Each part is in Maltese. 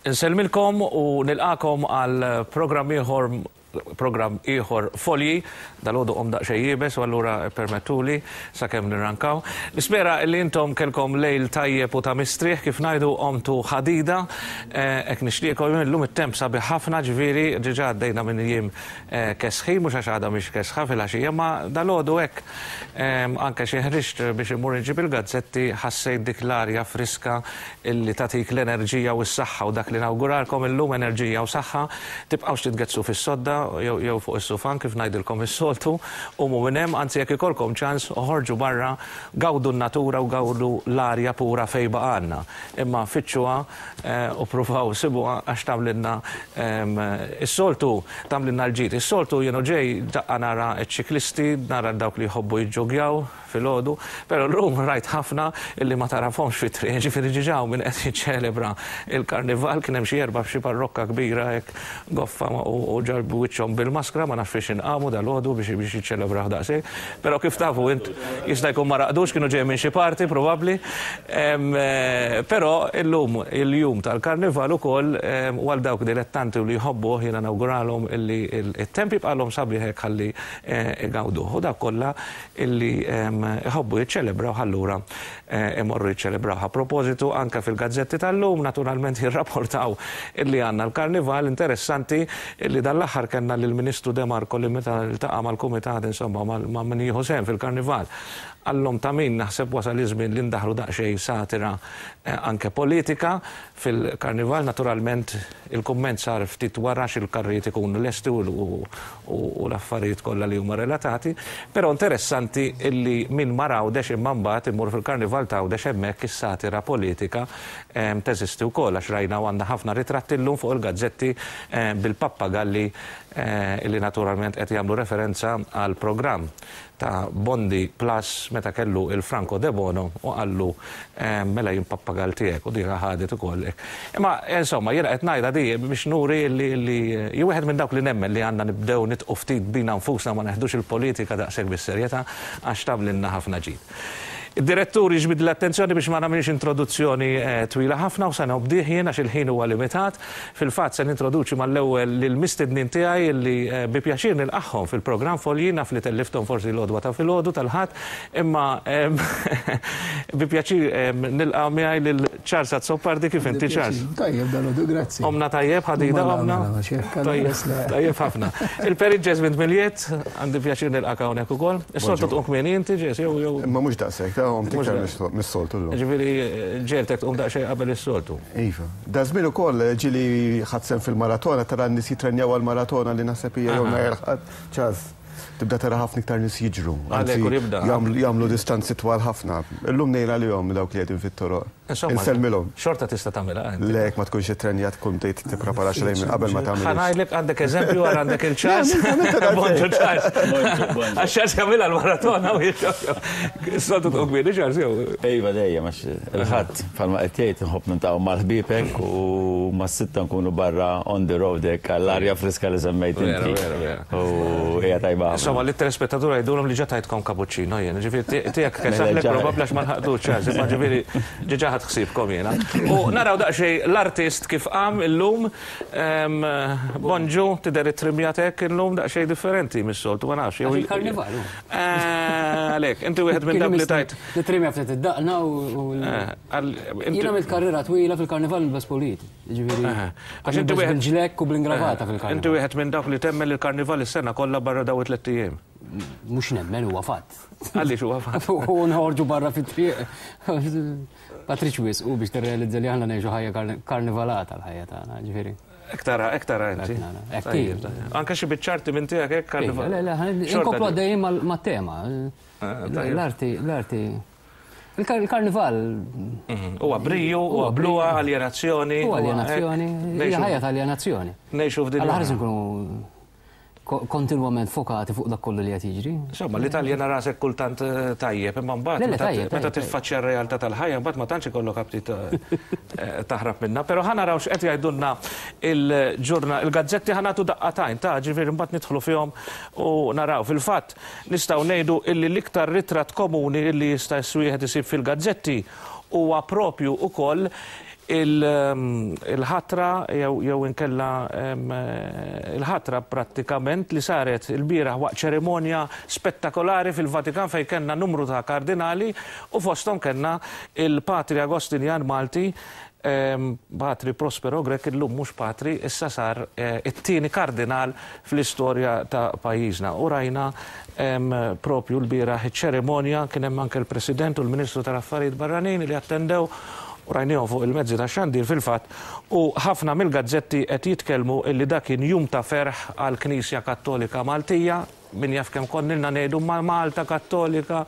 Insellmilkom u nilqagħkom għal programm ieħor programm ieħor Folji. Dalgħodu qom daqsxejn iebes u allura ippermettuli sakemm nirrankaw. Nispera li intom kellkom lejl tajjeb u ta' mistrieħ kif ngħidu qomtu ħadida. Hekk nixtieqkom illum it-temp sabiħ ħafna ġifieri diġà għaddejna minn jiem kesħin mhux għax għadha mhix kesħa filgħaxija imma dalgħodu hekk anke xi ħriġt biex immur inġib il-gazzetti ħassejt dik l-arja friska illi tagħtik l-enerġija u s-saħħa u dak li nawguralkom illum enerġija u saħħa, tibqgħux titgeddsu fis-sodda jew jew fuq is-sufan kif ngħidilkom is-soltu, qumu minn hemm, anzi jekk ikollkom ċans oħorġu barra, gawdu n-natura u gawdu l-arja pura fejn baqgħalna. Imma fittxuha u ppruvaw sibuha għax tagħmlilna is-soltu tagħmlilna l-ġid. Is-soltu jien u ġej daqqa nara ċ-ċiklisti, nara dawk li jħobbu jiġġoggjaw, filgħodu, però llum rajt ħafna illi ma tagħrafhomx fit-triq, jiġifieri ġiġa hawn min qed jiċċelebra l-Karnival, kien hemm xi erbgħa f'xi parrokka kbira hekk goffa u ġarrbu wiċċhom bil-maskra, ma nafx fiex inqamu dalgħodu biex biex jiċċelebrawh daqshekk. Però kif tafu int jista' jkun ma raqdux, kienu ġejjin minn xi party probabbli. Però illum il-jum tal-Karnival ukoll u għal dawk dilettanti u li jħobbuh jiena nawguralhom illi t-temp jibqagħlhom sabiħ hekk ħalli igawduh. U dawk kollha illi iħobbu jiċċelebrawh allura imorru jiċċelebrawh. A propożitu anke fil-gazzetti tal-lum naturalment jirrapportaw illi għandna l-Karnival. Interessanti illi dan l-aħħar kellna lill-Ministru De Marco li meta ltaqa' mal-kumitat insomma ma' min jieħu sehem fil-Karnival qallhom ta' min naħseb wasal iż-żmien li ndaħħlu daqsxejn satira anke politika fil-Karnival. Naturalment il-kumment sar ftit wara għax il-karrijiet ikunu lesti u u l-affarijiet kollha li huma relatati, però interessanti illi min mar Għawdex imma mbagħad imur fil-Karnival t'Għawdex hemmhekk is-satira politika teżisti wkoll għax rajna u għandna ħafna ritratti llum fuq il-gazzetti bil-pappagalli illi naturalment qed jagħmlu referenza għall-programm ta' Bondi Plus meta kellu il-Franco Debono u qallu mela jien pappagall tiegħek u dika ħadet ukoll hekk. Imma insomma jiena qed ngħidha di biex nuri li li jien wieħed minn dawk li nemmen li għandna nibdew nidqu ftit bina nfusna ma neħdux il-politika daqshekk bis-serjetà għax tagħmlilna ħafna ġid. Id-direttur jiġbidli l-attenzjoni biex ma nagħmilx introduzzjoni twila ħafna u se nobdih jien għax il-ħin huwa limitat. Fil-fatt se nintroduċi mal-ewwel lill-mistednin tiegħi li bi pjaċir nilqagħhom fil-programm Folji. Naf li tellifthom forsi l-għodwa ta' filgħodu tal-Ħadd, imma bi pjaċir nilqa' miegħi lil Charles Azzopardi. Kif inti Charles? Tajjeb dalgħodu, grazzi. Qomna tajjeb, ħadida qomna? Tajjeb ħafna. Il-Perit Jesmond Miliet, għandi pjaċir nilqak hawnhekk ukoll. Is-soltu tqum kmieni inti Jes jew jew. Imma mhux daqshekk, ta' qomt iktar mis-soltu llum. Ġifieri ġegħeltek tqum daqsxejn qabel is-soltu. Iva. Daż-żmien ukoll ġieli ħadt sehem fil-maratona, tara n-nies jitrenjaw għall-maratona li naħseb hija jew nhar il-Ħadd, Charles, tibda tara ħafna iktar nies jiġru. Għalhekk u jibda. Jagħmlu distanzi twal ħafna. Illum ngħin għalihom dawk li qegħdin fit-toroq. Insellmilhom. Xorta tista' tagħmilha inti. Le, jekk ma tkunx ittrenjat tkun bdejt tipprepara xejn minn qabel ma tagħmilhiex. Ħa ngħidlek għandek eżempju wara għandek il-Charles. Bonġu Charles. Għax Charles jagħmilha l-maratona u Is-soltu tqum kmieni Charles jew? Iva dejjem għax il-Ħadd bħalma qed tgħid inħobb niltaqgħu mal-ħbieb hekk u mas-sitta nkunu barra on the road hekk għall-arja friska li semmejt inti. Vera, vera, vera. U hija tajba ħafna. Insomma, lit-telespettatur għidulhom li ġa tajtkom cappuccino jien. Ġifieri tiegħek kesaħlek probabbli għax ma lħaqtux Charles, imma ġifieri ġiġa ħadt ħsiebkom jiena. U naraw daqsxejn l-artist kif qam illum. Bonġu, tidher ittrimjat hekk illum daqsxejn differenti mis-soltu, ma nafx. Għax il-karnival hu. Għalhekk, inti wieħed minn dawk li tajt. Nittrimja ftit id-daqna u. Jien għamilt karriera twila fil-karnival nilbes pulit. Ġifieri. Għax inti wieħed. Bil-ġlekk u bl-ingravata fil-karnival. Inti wieħed minn dawk li temmen li l-karnival is-sena kollha barra dawn it-tlett ijiem. Mhux nemmen huwa fatt. Għaliex huwa fatt? U nħorġu barra fit-triq. Ma tridx wisq u biex tirrealizza li aħna ngħixu ħajja karnivalata l-ħajja tagħna, ġifieri. Hekk tara, hekk tara inti. Hekk Anke xi biċċarti minn tiegħek hekk karnival. Le, le, inkomplu għaddejjin mat-tema. L-arti, l-arti. Il-karnival. Huwa briju, huwa bluha, aljenazzjoni. Huwa aljenazzjoni, hija ħajja ta' aljenazzjoni. Ngħixu f'din. Alla ħares nkunu kontinwament fokati fuq dak kollu li qed jiġri. Insomma, li taljena rasek kultant eh, tajjeb, imma mbagħad meta tiffaċċja r-realtà tal-ħajja, mbagħad ma tantx ikollok aptit eh, taħrab minnha. Però ħa naraw x'qed jgħidulna il-ġurna, il-gazzetti ħa nagħtu daqqatajn ta' ġifieri mbagħad nidħlu fihom u naraw. Fil-fatt nistgħu ngħidu illi l-iktar ritratt komuni illi jista' wieħed isib fil-gazzetti huwa propju ukoll. Il-ħatra jew inkella il-ħatra prattikament li saret ilbieraħ waqt ċerimonja spettakolari fil-Vatikan fejn kellna numru ta' kardinali u fosthom kellna il-Patri Agostinjan Malti Patri Prospero Grech illum mhux patri issa sar it-tieni kardinal fl-istorja ta' pajjiżna. U rajna propju lbieraħ iċ-ċerimonja, kien hemm anke l-President u l-Ministru tal-Affarijiet Barranin li attendew u rajniehom fuq il-mezzi tax-xandir fil-fatt u ħafna mill-gazzetti qed jitkellmu illi dak kien jum ta' ferħ għall-Knisja Kattolika Maltija, min jaf kemm konna ilna ngħidu ma Malta Kattolika,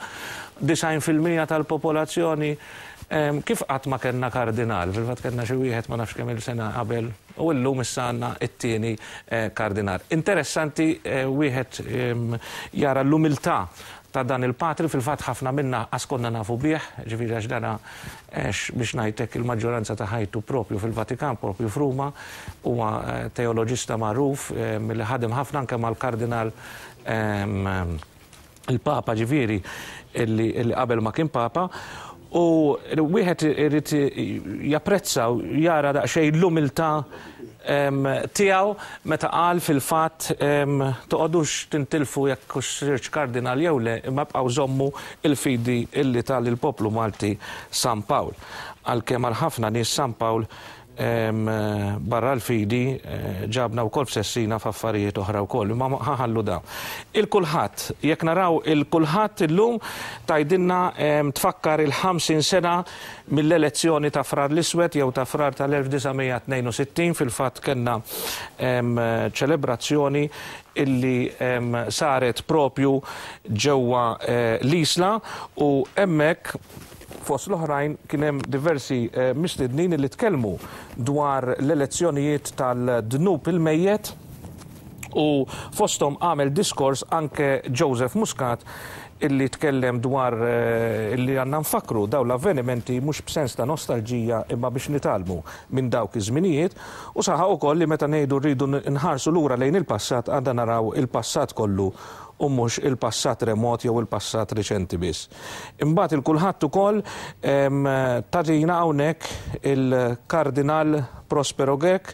90% tal-popolazzjoni, kif qatt ma kellna kardinal, fil-fatt kellna xi wieħed ma nafx kemm-il sena qabel U llum issa għandna t-tieni kardinal. Interessanti wieħed jara l-umiltà ta' dan il-patri, fil-fatt ħafna minna qas konna nafu bih, ġifieri għax dana għex biex ngħid hekk il-maġġoranza ta' ħajtu propju fil-Vatikan, propju f'Ruma, huwa teoloġista magħruf li ħadem ħafna anke mal-kardinal il-Papa ġifieri illi qabel ma kien Papa, u wieħed irid japprezza u jara daqsxejn l-umiltà tiegħu meta qal fil-fatt toqgħodux tintilfu jekk hux sirtx kardinal jew le, imma ibqgħu żommu l-fidi illi ta lill-poplu Malti San Pawl. Għalkemm għal ħafna nies San Pawl Barra l-fidi, ġabna wkoll f'sessina f'affarijiet oħra wkoll, imma ħa nħallu dawn. Il-kulħadd, jekk naraw il-kulħadd illum tgħidilna tfakkar il-50 sena mill-elezzjoni ta' Frar l-Iswed jew ta' Frar tal-1962, fil-fatt kellna ċelebrazzjoni illi saret propju ġewwa l-Isla u hemmhekk Fost l-oħrajn kien hemm diversi mistednin li tkellmu dwar l-elezzjonijiet tal-dnub il-mejjet u fosthom għamel diskors anke Joseph Muscat illi tkellem dwar illi għandna nfakkru dawn l-avvenimenti mhux b'sens ta' nostalġija imma biex nitgħallmu minn dawk iż-żminijiet u saħaq ukoll li meta ngħidu rridu nħarsu lura lejn il-passat għandna naraw il-passat kollu u mhux il-passat remot jew il-passat riċenti biss. Imbagħad il-kulħadd ukoll tagħtina hawnhekk il-Kardinal Prospero Grech,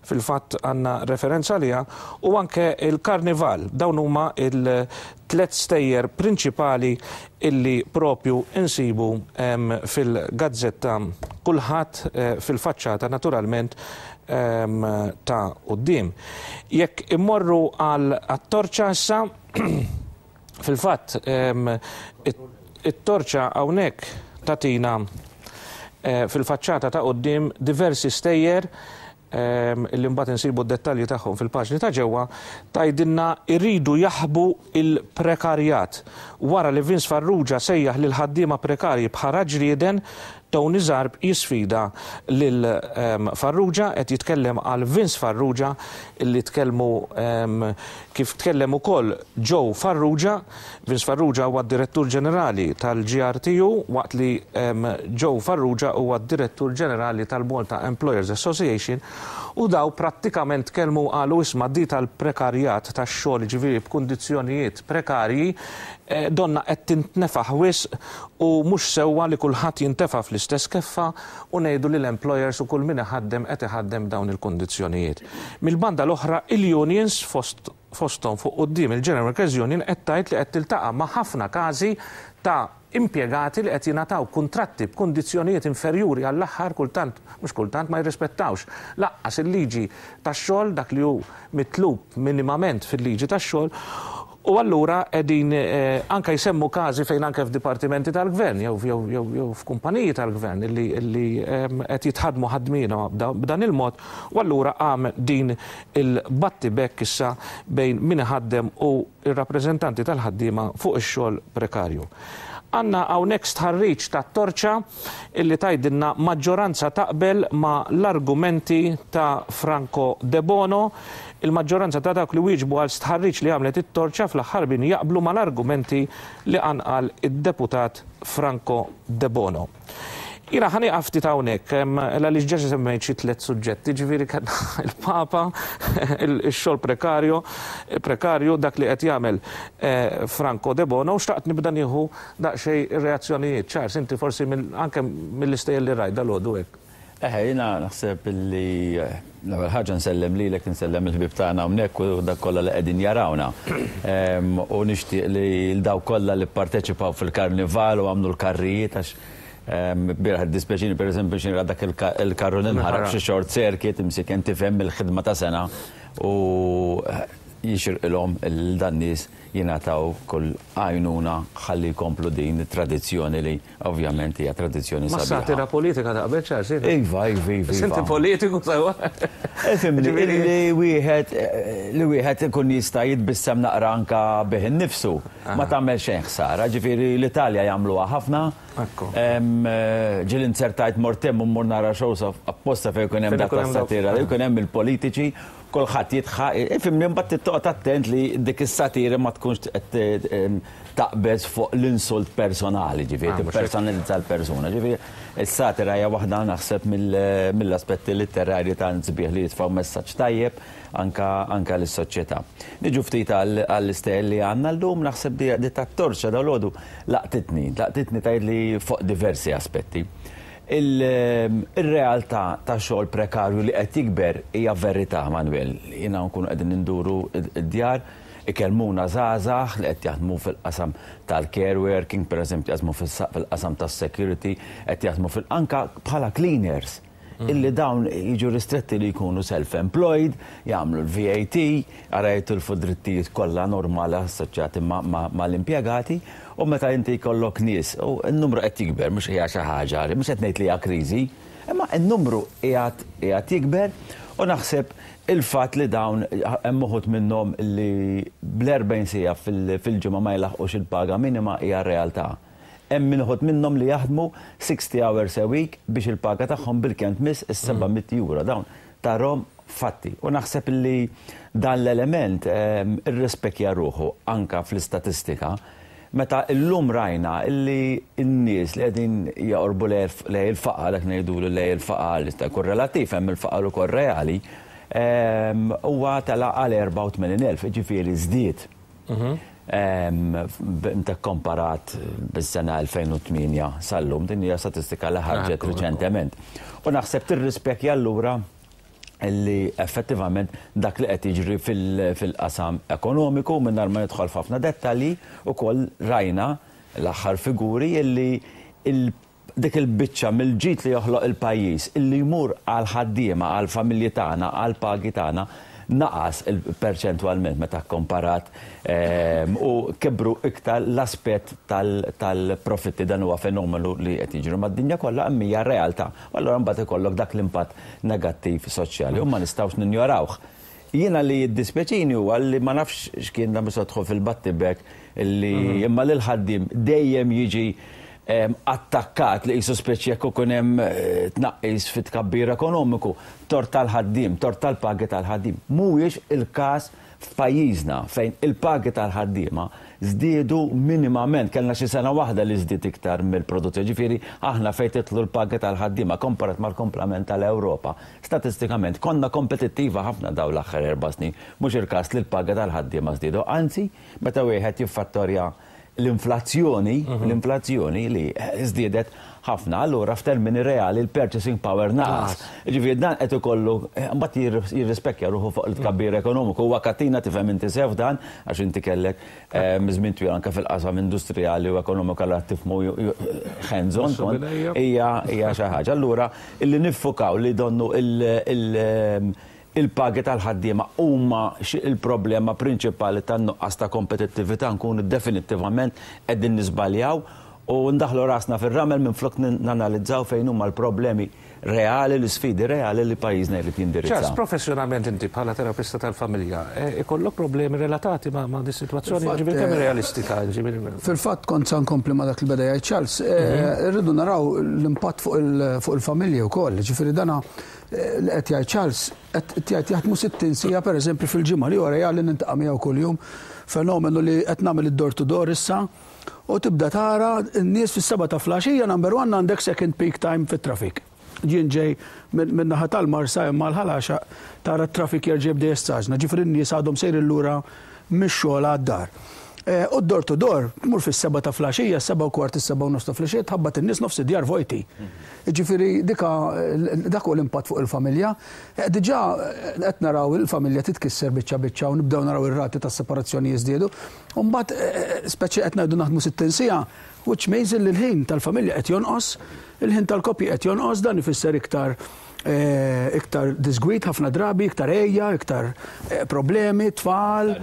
fil-fatt għandna referenza għaliha, u anke il-Karnival. Dawn huma il-tlet stejjer prinċipali illi propju insibu fil-gazzetta Kulħadd fil-faċċata naturalment ta' quddiem. Jekk immorru għal torċa issa, fil-fatt it-torċa hawnhekk tagħtina fil-faċċata ta' quddiem diversi stejjer li mbagħad insibu d-dettalji tagħhom fil-paġni ta' ġewwa, tgħidilna jridu jaħbu l-prekarjat. Wara li Vince Farrugia sejjaħ lill-ħaddiema prekarji bħala ġrieden, Tony Zarb jisfida lil Farrugia, qed jitkellem għal Vince Farrugia li tkellmu kif tkellem ukoll Joe Farrugia. Vince Farrugia huwa d-Direttur Ġenerali tal-GRTU waqt li Joe Farrugia huwa d-Direttur Ġenerali tal-Malta Employers Association u daw prattikament tkellmu u qalu isma' di tal-prekarjat tax-xogħol jiġifieri b'kundizzjonijiet prekarji donnha qed tintnefaħ wisq u mhux sewwa li kulħadd jintefa' fl-istess keffa u ngħidu li l-employers u kull min iħaddem qed iħaddem b'dawn il-kundizzjonijiet. Mill-banda l-oħra il-unions fost fosthom fuq quddiem il-General Workers Union qed tgħid li qed tiltaqa' ma' ħafna każi ta' impjegati li qed jingħataw kuntratti b'kundizzjonijiet inferjuri għall-aħħar kultant, mhux kultant, ma jirrispettawx lanqas il-liġi tax-xogħol, dak li hu mitlub minimament fil-liġi tax-xogħol, u allura qegħdin anke jsemmu każi fejn anke f'dipartimenti tal-gvern jew jew jew f'kumpaniji tal-gvern illi illi qed jitħaddmu ħadmiena b'dan il-mod u allura qam din il-battibekk issa bejn min iħaddem u r-rappreżentanti tal-ħaddiema fuq ix-xogħol prekarju. Għandna hawnhekk stħarriġ tat-Torċa illi tgħidilna maġġoranza taqbel ma' l-argumenti ta' Franco Debono. Il-maġġoranza ta' dawk li wieġbu għal stħarriġ li għamlet it-Torċa fl-aħħar bin jaqblu mal-argumenti li qanqal id-Deputat Franco Debono. Jiena ħa nieqaf ftit hawnhekk, għaliex ġa semmejt xi tlett suġġetti, ġifieri kellna il-Papa, ix-xogħol prekarju, prekarju, dak li qed jagħmel Franco Debono, u xtaqt nibda nieħu daqsxejn ir-reazzjonijiet. Charles, inti forsi anke mill-istejjer li rajt dalgħodu hekk. Eħe, jiena naħseb li l-ewwel ħaġa nsellem lilek, insellem il-ħbieb tagħna hawnhekk u dak kollha li qegħdin jarawna. U nixtieq li l dawk kollha li pparteċipaw fil-karnival u għamlu l-karrijiet għax bieraħ iddispjaċini pereżempju xi nara dak il-karru li nħaraq f'xi short circuit imsiken tifhem il-ħidma ta' sena u jixirqilhom lil dan nies jingħataw kull għajnuna ħalli jkomplu din it-tradizzjoni li ovvjament hija tradizzjoni sabiħa. Mas-satira politika taqbel Charles? Iva, iva, iva. Inti politiku sewwa. Ifhimni, li wieħed li wieħed ikun jista' jitbissem naqra anke bih innifsu ma tagħmel xejn ħsara. Ġifieri l-Italja jagħmluha ħafna. Ġieli nzertajt mort hemm u mmur nara shows apposta fejn ikun hemm dak tas-satira, jkun hemm il-politiċi Kulħadd jidħaq, ifhimni, imbagħad trid toqgħod attent li dik is-satira ma tkunx qed taqbeż fuq l-insult personali, ġifieri tippersonalizza l-persuna. Ġifieri s-satira hija waħda naħseb mill-aspetti litterarji tant sbieħ li jitfgħu messaġġ tajjeb anke anke lis-soċjetà. Niġu ftit għall-istejjer li għandna llum, naħseb di tat-torċa dalgħodu laqtitni, laqtitni tgħidli fuq diversi aspetti. Ir-realtà ta' xogħol prekarju li qed jikber hija verità, Manuel. Jiena nkunu qegħdin induru d-djar, ikellmuna żgħażagħ li qed jaħdmu fil-qasam tal-care working, pereżempju jaħdmu fil-qasam tas-security, qed jaħdmu fil anke bħala cleaners, illi dawn jiġu ristretti li jkunu self-employed, jagħmlu l-VAT, ara jitilfu d-drittijiet kollha normali assoċjati mal-impjegati. U meta inti jkollok nies, u n-numru qed jikber, mhux hija xi ħaġa, mhux qed ngħid li hija kriżi, imma n-numru qiegħed qiegħed jikber u naħseb il-fatt li dawn hemm uħud minnhom li bl-40 siegħa fil-ġimgħa ma jlaħqux il-paga minima hija realtà. Hemm min uħud minnhom li jaħdmu 60 hours a week biex il-paga tagħhom bilkemm tmiss is-700 euro. Dawn tarhom fatti. U naħseb li dan l-element irrispekja ruħu anke fl-istatistika meta llum rajna li n-nies li qegħdin joqorbu lejn il-faqar, dak ngħidulu lejn il-faqar li jista' jkun relattiv, hemm il-faqar ukoll reali, huwa tela' għal 84,000, jiġifieri żdied. Meta kkomparat bis-sena 2008 sal-lum, din hija statistika li ħarġet riċentement. U naħseb tirrispekja allura li effettivament dak li qed jiġri fil-qasam ekonomiku mingħajr ma nidħol f'ħafna dettalji, ukoll rajna l-aħħar figuri illi dik il-biċċa mill-ġid li joħloq il-pajjiż illi jmur għall-ħaddiema, għall-familji tagħna, għall-pagi tagħna, naqas perċentwalment meta kkomparat u kibru iktar l-aspett tal-profitti. Dan huwa fenomenu li qed jiġri mad-dinja kollha imma hija realtà. U allura mbagħad ikollok dak l-impatt negattiv soċjali u ma nistgħux ninjorawh. Jiena li jiddispjaċini huwa li ma nafx x'kien dan biex tidħol fil-battibek li imma li l-ħaddiem dejjem jiġi attakkat li qisu speċi jekk ikun hemm tnaqqis fit-tkabbir ekonomiku, tort tal-ħaddiem, tort tal-pagi tal-ħaddiem. Mhuwiex il-każ f'pajjiżna fejn il-pagi tal-ħaddiema żdiedu minimament, kellna xi sena waħda li żdied iktar mill-produzzjoni, ġifieri aħna fejn tidħlu l-pagi tal-ħaddiema komparat mal-kumplament tal-Ewropa, statistikament konna kompetittiva ħafna dawn l-aħħar 4 snin. Mhux il-każ li l-pagi tal-ħaddiema żdiedu, anzi meta wieħed jiffattorja l-inflazzjoni, l-inflazzjoni li żdiedet ħafna, allura f'termini reali l-purchasing power naqas. Ġifieri dan qed ikollu mbagħad jirrispekja ruħu fuq il-tkabbir ekonomiku. Huwa katina tifhem inti sew dan għax inti kellek żmien twil anke fil-qasam industrijali u ekonomiku allura tifhmu hands on hija hija xi ħaġa. Allura illi niffukaw li donnu il-pagi tal-ħaddiema huma il-problema prinċipali tan-nuqqas ta' kompetittività nkunu definittivament qegħdin niżbaljaw u ndaħlu rasna fir-ramel minflok nanalizzaw fejn huma l-problemi reali, l-isfidi reali li pajjiżna jrid jindirizza. Charles, professjonalment inti bħala terapista tal-familja, ikollok problemi relatati ma' di situazzjoni, ġifieri kemm realistika? Fil-fatt kont sa nkompli ma' dak li beda jgħid Charles, irridu naraw l-impatt fuq il-familji wkoll, ġifieri dana li qed jgħid Charles, qed jgħid jaħdmu 60 siegħa pereżempju fil-ġimgħa li wara li nintaqa' miegħu kuljum, fenomenu li qed nagħmel id-door to door issa, u tibda tara n-nies fis-7 ta' filgħaxija number one għandek second peak time fit-traffic. Jien ġej minn naħa tal-Marsa imma l-Ħal Għaxaq tara t-traffic jerġa' jibda jistaġna, ġifieri n-nies għadhom sejrin lura mix-xogħol għad-dar. U d-door to door, tmur fis-7 ta' filgħaxija, 7:15, is-7:30 ta' filgħaxija, tħabbat in-nies nofs id-djar vojti. Ġifieri dika dak hu l-impatt fuq il-familja. Diġà qed naraw il-familja titkisser biċċa biċċa u nibdew naraw ir-rati tas-separazzjoni jiżdiedu. U mbagħad speċi qed ngħidu naħdmu 60 siegħa, which means li l-ħin tal-familja qed jonqos, il-ħin tal-koppji qed jonqos, dan ifisser iktar iktar disgwid ħafna drabi, iktar għeja, iktar problemi, tfal.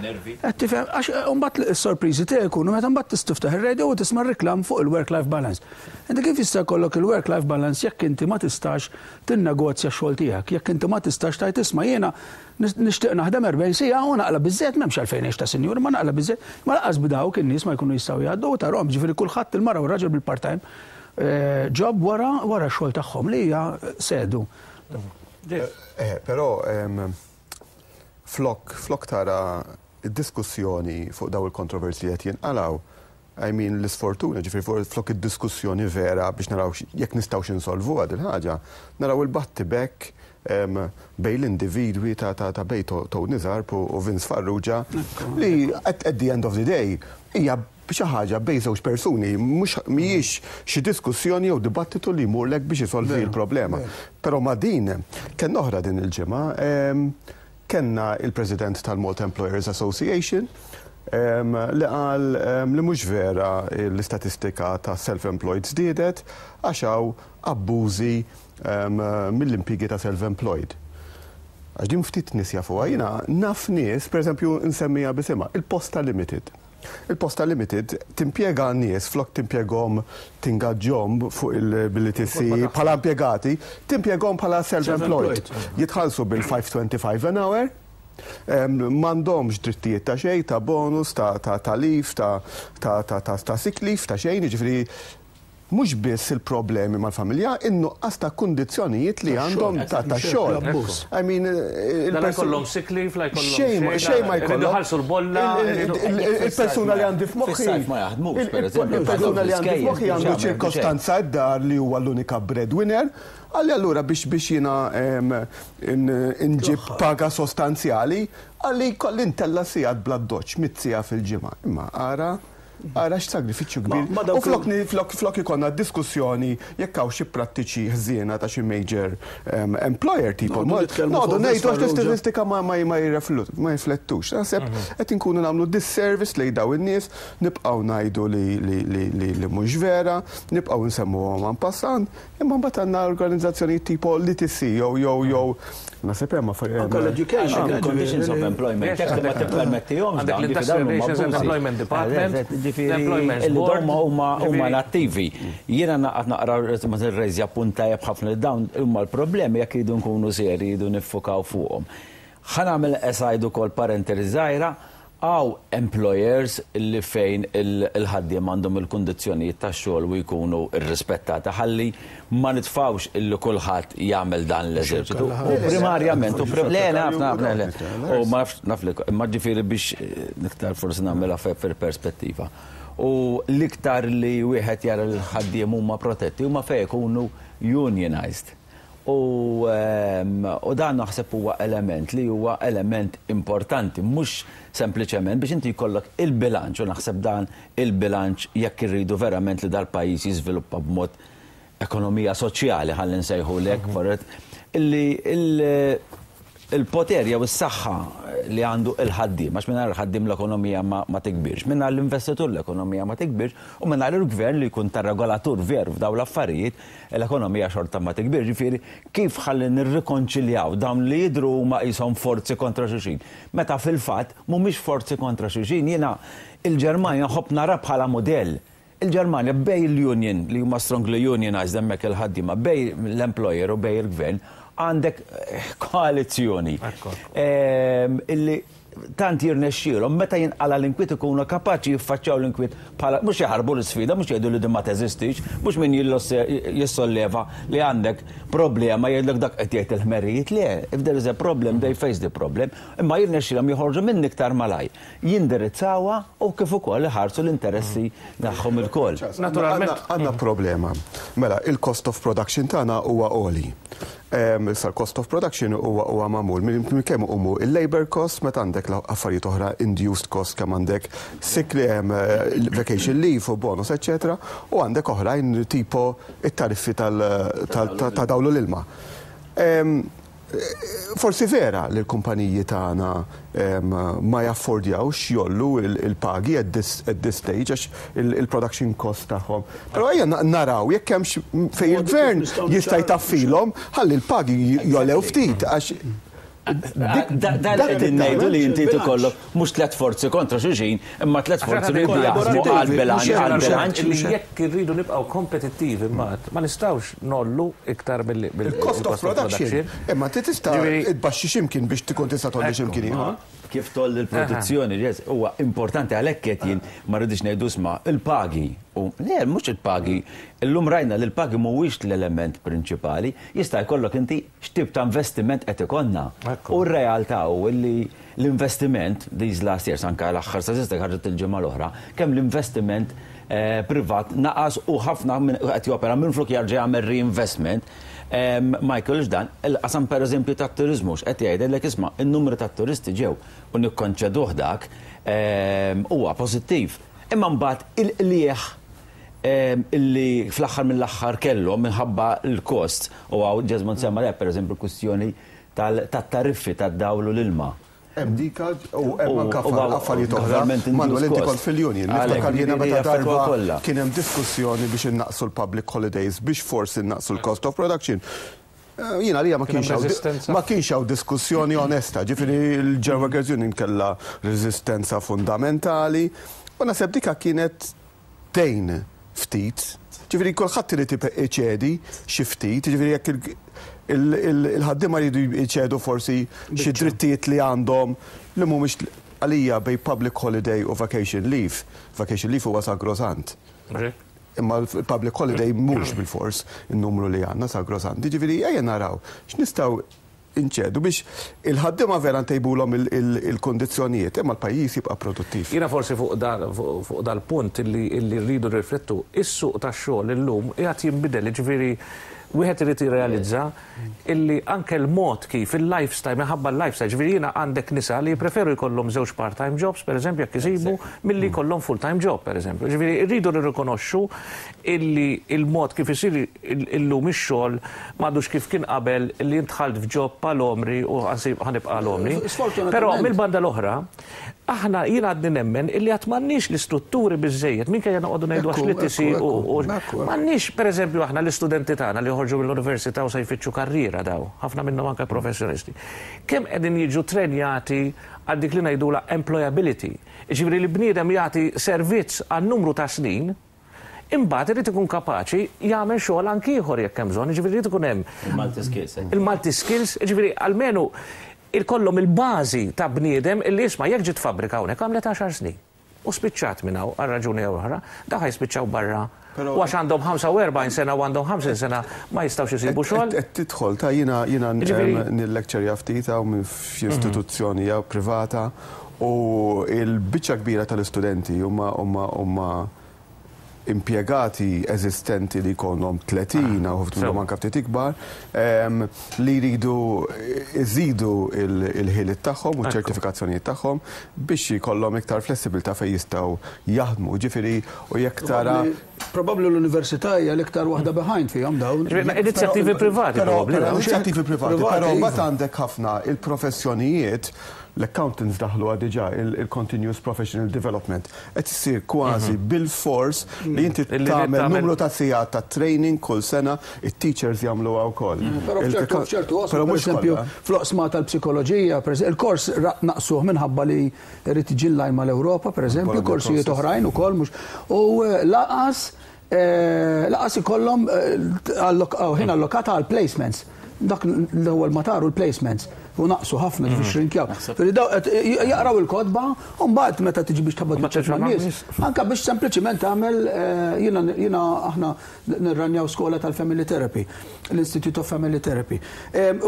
Qed tifhem, għax mbagħad is-sorpriżi tiegħi jkunu meta mbagħad tiftaħ ir-radio u tisma' reklam fuq il-work-life balance. Inti kif jista' jkollok il-work-life balance jekk inti ma tistax tinnegozja x-xogħol tiegħek, jekk inti ma tistax tgħid, "Isma', jiena nixtieq naħdem 40 siegħa u naqla' biżżejjed, m'hemmx għalfejn ngħix ta' sinjur, ma naqla' biżżejjed," ma lanqas b'dawk in-nies ma jkunu jistgħu jgħaddu u tarahom, ġifieri kulħadd, il-mara u r-raġel, bil-part-time job wara x-xogħol tagħhom li hija sedu. Però flok tara id-diskussjoni fuq daw il-kontroversi li qed jinqalaw, I mean, l-isfortuna, ġifieri flok id-diskussjoni vera biex naraw jekk nistgħux insolvu għad il-ħaġa, naraw il-battibek bejn l-individwi ta' bejn Tony Zarb u Vince Farrugia li at the end of the day hija xi ħaġa bejn żewġ persuni, mhux mhijiex xi diskussjoni jew dibattitu li jmurlek biex isolvi l-problema. Però ma din kien oħra din il-ġimgħa kellna il-President tal-Malta Employers Association li qal li mhux vera l-istatistika ta' self-employed żdiedet għax hawn abbużi mill-impjiegi ta' self-employed. Għax din ftit nies jafuha, jiena naf nies, per eżempju, nsemmiha b'isimha, il-Posta Limited. Il-Posta Limited timpjega nies, flok timpjegahom, tingaġġahom fuq il-billi bħala impjegati, timpjegahom bħala self-employed. Jitħallsu bil-525 an hour, m'għandhomx drittijiet ta' xejn, ta' bonus, ta' leave, ta' sick leave, ta' xejn, ġifieri mhux biss il-problemi mal-familja, in-nuqqas ta' kundizzjonijiet li għandhom ta' xogħol. I mean, La jkollhom sick leave, la jkollhom xejn xejn ma jkollhom. Ħallsu l-bolla. Il-persuna li għandi f'moħħi. Ma jaħdmux, per eżempju. Il-persuna li għandi f'moħħi għandu ċirkostanza d-dar li huwa l-unika breadwinner, għalli allura biex jiena nġib paga sostanzjali, għalli kolli ntella sigħat bla doċ, 100 siegħa fil-ġimgħa. Imma ara Ara x'sagrifiċċju kbir. U flok ikollna diskussjoni jekk hawn xi prattiċi ħżiena ta' xi major employer tipo. Noqogħdu ngħidu għax l-istatistika ma jirriflettux. Naħseb qed inkunu nagħmlu disservice lejn daw in-nies, nibqgħu ngħidu li mhux vera, nibqgħu nsemmuhom en passant, imma mbagħad għandna organizzazzjoni tipo l-ETC jew naħseb hemm affarijiet. Anke l-education. Conditions of employment. Ma tippermettihomx. Għandek l-Industrial Relations and Employment Department. Ġifieri dawn huma nattivi. Jiena naqgħod naqra ma tirrejżja punt tajjeb ħafna li dawn huma l-problemi jekk jridu nkunu seri jridu niffukaw fuqhom. Ħa nagħmel aside ukoll parentesi żgħira, hawn employers li fejn il-ħaddiem għandhom il-kundizzjonijiet tax-xogħol u jkunu irrispettati ħalli ma nitfawx illi kulħadd jagħmel dan l-eżerċitu. U primarjament, u le, naf, naf, le, le. U ma nafx, naf li, ma ġifieri biex iktar forsi nagħmilha fil-perspettiva. U l-iktar li wieħed jara l-ħaddiem huma protetti huma fejn ikunu unionized. U dan naħseb huwa element li huwa element importanti, mhux sempliċement biex inti jkollok il-bilanċ, u naħseb dan il-bilanċ jekk irridu verament li dal-pajjiż jiżviluppa b'mod ekonomija soċjali, ħalli nsejħu lek, forret, illi il-poter jew is-saħħa li għandu il-ħaddiem, għax mingħajr il-ħaddiem l-ekonomija ma tikbirx, mingħajr l-investitur l-ekonomija ma tikbirx, u mingħajr il-gvern li jkun ta' regolatur veru f'daw l-affarijiet, l-ekonomija xorta ma tikbirx. Ġifieri, kif ħalli nirrikonċiljaw dawn li jidru huma qishom forzi kontra xulxin? Meta fil-fatt mhumiex forzi kontra xulxin, jiena il-Ġermanja nħobb nara bħala modell. Il-Ġermanja bejn l-union li huma strongly unionized hemmhekk il-ħaddiema, bejn l-employer u bejn il-gvern, għandek koalizzjoni. Illi tant jirnexxielhom meta jinqala l-inkwiet ikunu kapaċi jiffaċċjaw l-inkwiet bħala mhux jaħarbu l-isfida, mhux jgħidu li din ma teżistix, mhux min jissolleva li għandek problema jgħidlek dak qed jgħid il-ħmerijiet. Le, if there is a problem, they face the problem, imma jirnexxielhom joħorġu minn iktar malaj, jindirizzawha u kif ukoll iħarsu l-interessi tagħhom ilkoll. Naturalment. Għandna problema. Mela, il-cost of production tagħna huwa għoli. Issa l-cost of production huwa magħmul minn kemm humu il-labor cost meta għandek għandek affarijiet oħra induced cost kemm għandek sick vacation leave u bonus, eccetera, u għandek oħrajn tipo it-tariffi ta' dawl u l-ilma. Forsi vera li l-kumpaniji tagħna ma jaffordjawx jgħollu il-pagi at this stage għax il-production cost tagħhom. Però ejja naraw jekk hemmx fejn il-gvern jista' jtaffilhom ħalli l-pagi jogħlew ftit għax Dan qegħdin ngħidu li inti tikollok mhux tliet forzi kontra xulxin, imma tliet forzi li jaħdmu għal-bilanċ. Li jekk irridu nibqgħu kompetittivi mbagħad ma nistgħux ngħollu iktar mill Il-cost of production. Imma inti tista' tbaxxi x'imkien biex tkun tista' tgħolli x'imkien ieħor. Kif tgħolli l-produzzjoni, huwa importanti għalhekk qed jien ma rridix ngħidu isma' il-pagi. U le, mhux il-pagi. Illum rajna li l-pagi mhuwiex l-element prinċipali, jista' jkollok inti x'tip ta' investiment qed ikollna. U r-realtà hu li l-investiment these last years, anke l-aħħar statistika ħarġet il-ġimgħa l-oħra, kemm l-investiment privat naqas u ħafna qed jopera minflok jarġa' jagħmel reinvestment, ma jkollux dan. Il-qasam pereżempju tat-turiżmu x'qed jgħidlek isma' in-numru tat-turisti ġew u nikkonċeduh dak huwa pożittiv. Imma mbagħad il-qligħ illi fl-aħħar mill-aħħar kellhom minħabba l-kost u hawn Jesmond semma lek pereżempju l-kwistjoni tat-tariffi tad-dawl u l-ilma. Hemm dika u hemm anke affarijiet oħra. Manuel, inti kont fil-union. Niftakar jiena meta darba kien hemm diskussjoni biex innaqqsu l-public holidays biex forsi nnaqqsu l-cost of production. Jiena li ma kienx hawn diskussjoni onesta, ġifieri l-General Workers Union kellha reżistenza fundamentali u naħseb dika kienet tgħin ftit. Ġifieri kulħadd irid iċedi xi ftit, ġifieri jekk il-ħaddiema jridu jċedu forsi xi drittijiet li għandhom li mhumiex għalija bejn public holiday u vacation leave. Vacation leave huwa sagrosant. Imma l-public holiday mhux bil-fors in-numru li għandna sagrosant. Ġifieri ejja naraw x'nistgħu inċedu biex il-ħaddiema vera ntejbulhom il-kondizzjonijiet, imma l-pajjiż jibqa' produttiv. Jiena forsi fuq dal-punt illi rridu riflettu, is-suq tax-xogħol illum qiegħed jinbidel, ġifieri wieħed irid jirrealizza illi anke l-mod kif il-lifestyle, minħabba l-lifestyle, ġifieri jiena għandek nisa li jippreferu jkollhom żewġ part-time jobs, pereżempju, jekk isibu, milli jkollhom full-time job, pereżempju. Ġifieri rridu nirrikonoxxu illi il-mod kif isir illum ix-xogħol m'għadux kif kien qabel li int dħalt f'job għal għomri u ħa nibqa' għal għomri. Però mill-banda l-oħra, aħna jiena għadni nemmen illi għad m'għandniex l-istrutturi biżejjed, minkejja noqogħdu ngħidu għax li tisi u m'għandniex, pereżempju, aħna l-istudenti tagħna li joħorġu mill-università u se jfittxu karriera daw, ħafna minnhom anke professjonisti. Kemm qegħdin jiġu trenjati għal dik li ngħidula employability? Ġifieri li bniedem jagħti servizz għal numru ta' snin, imbagħad irid ikun kapaċi jagħmel xogħol anki ieħor jekk hemm bżonn, jiġifieri irid ikun hemm Il-multi skills. Il-multi skills, jiġifieri almenu ikollhom il-bażi ta' bniedem illi jisma' jekk ġiet fabbrika hawnhekk għamlet 10 snin. U spiċċat minn hawn għal raġuni jew oħra, da ħa jispiċċaw barra. U għax għandhom 45 sena u għandhom 50 sena ma jistgħux isibu xogħol. Qed tidħol ta' jiena nil-lecture ftit hawn minn f'istituzzjoni jew privata u il-biċċa kbira tal-istudenti huma impjegati eżistenti li jkollhom 30 u ħafna minnhom anke ftit ikbar li jridu iżidu il-ħiliet tagħhom u ċ-ċertifikazzjonijiet tagħhom biex jkollhom iktar flessibilità fejn jistgħu jaħdmu. Ġifieri u jekk tara Probabbli l-università hija l-iktar waħda behind fihom dawn. Inizjattivi privati probabbli. Inizjattivi privati, però mbagħad għandek ħafna il-professjonijiet, l-accountants daħlu diġà il-continuous professional development. Qed issir kważi bil-fors li inti tagħmel numru ta' sigħat ta' training kull sena, it-teachers jagħmluha wkoll. Però f'ċertu qosma, per eżempju, fl-oqsma tal-psikoloġija, il-kors naqsuh minħabba li rrid tiġi line mal-Ewropa, per eżempju, korsijiet oħrajn ukoll mhux. U lanqas ikollhom ħin allokata għal placements. Dak l-ewwel mataru l-placements u naqsu ħafna ġifieri xrinkjaw. Jaqraw il-kotba u mbagħad meta tiġi biex tħabbat man-nies, anke biex sempliċiment tagħmel jiena aħna nirranjaw skola tal-Family Therapy, l-Institute of Family Therapy.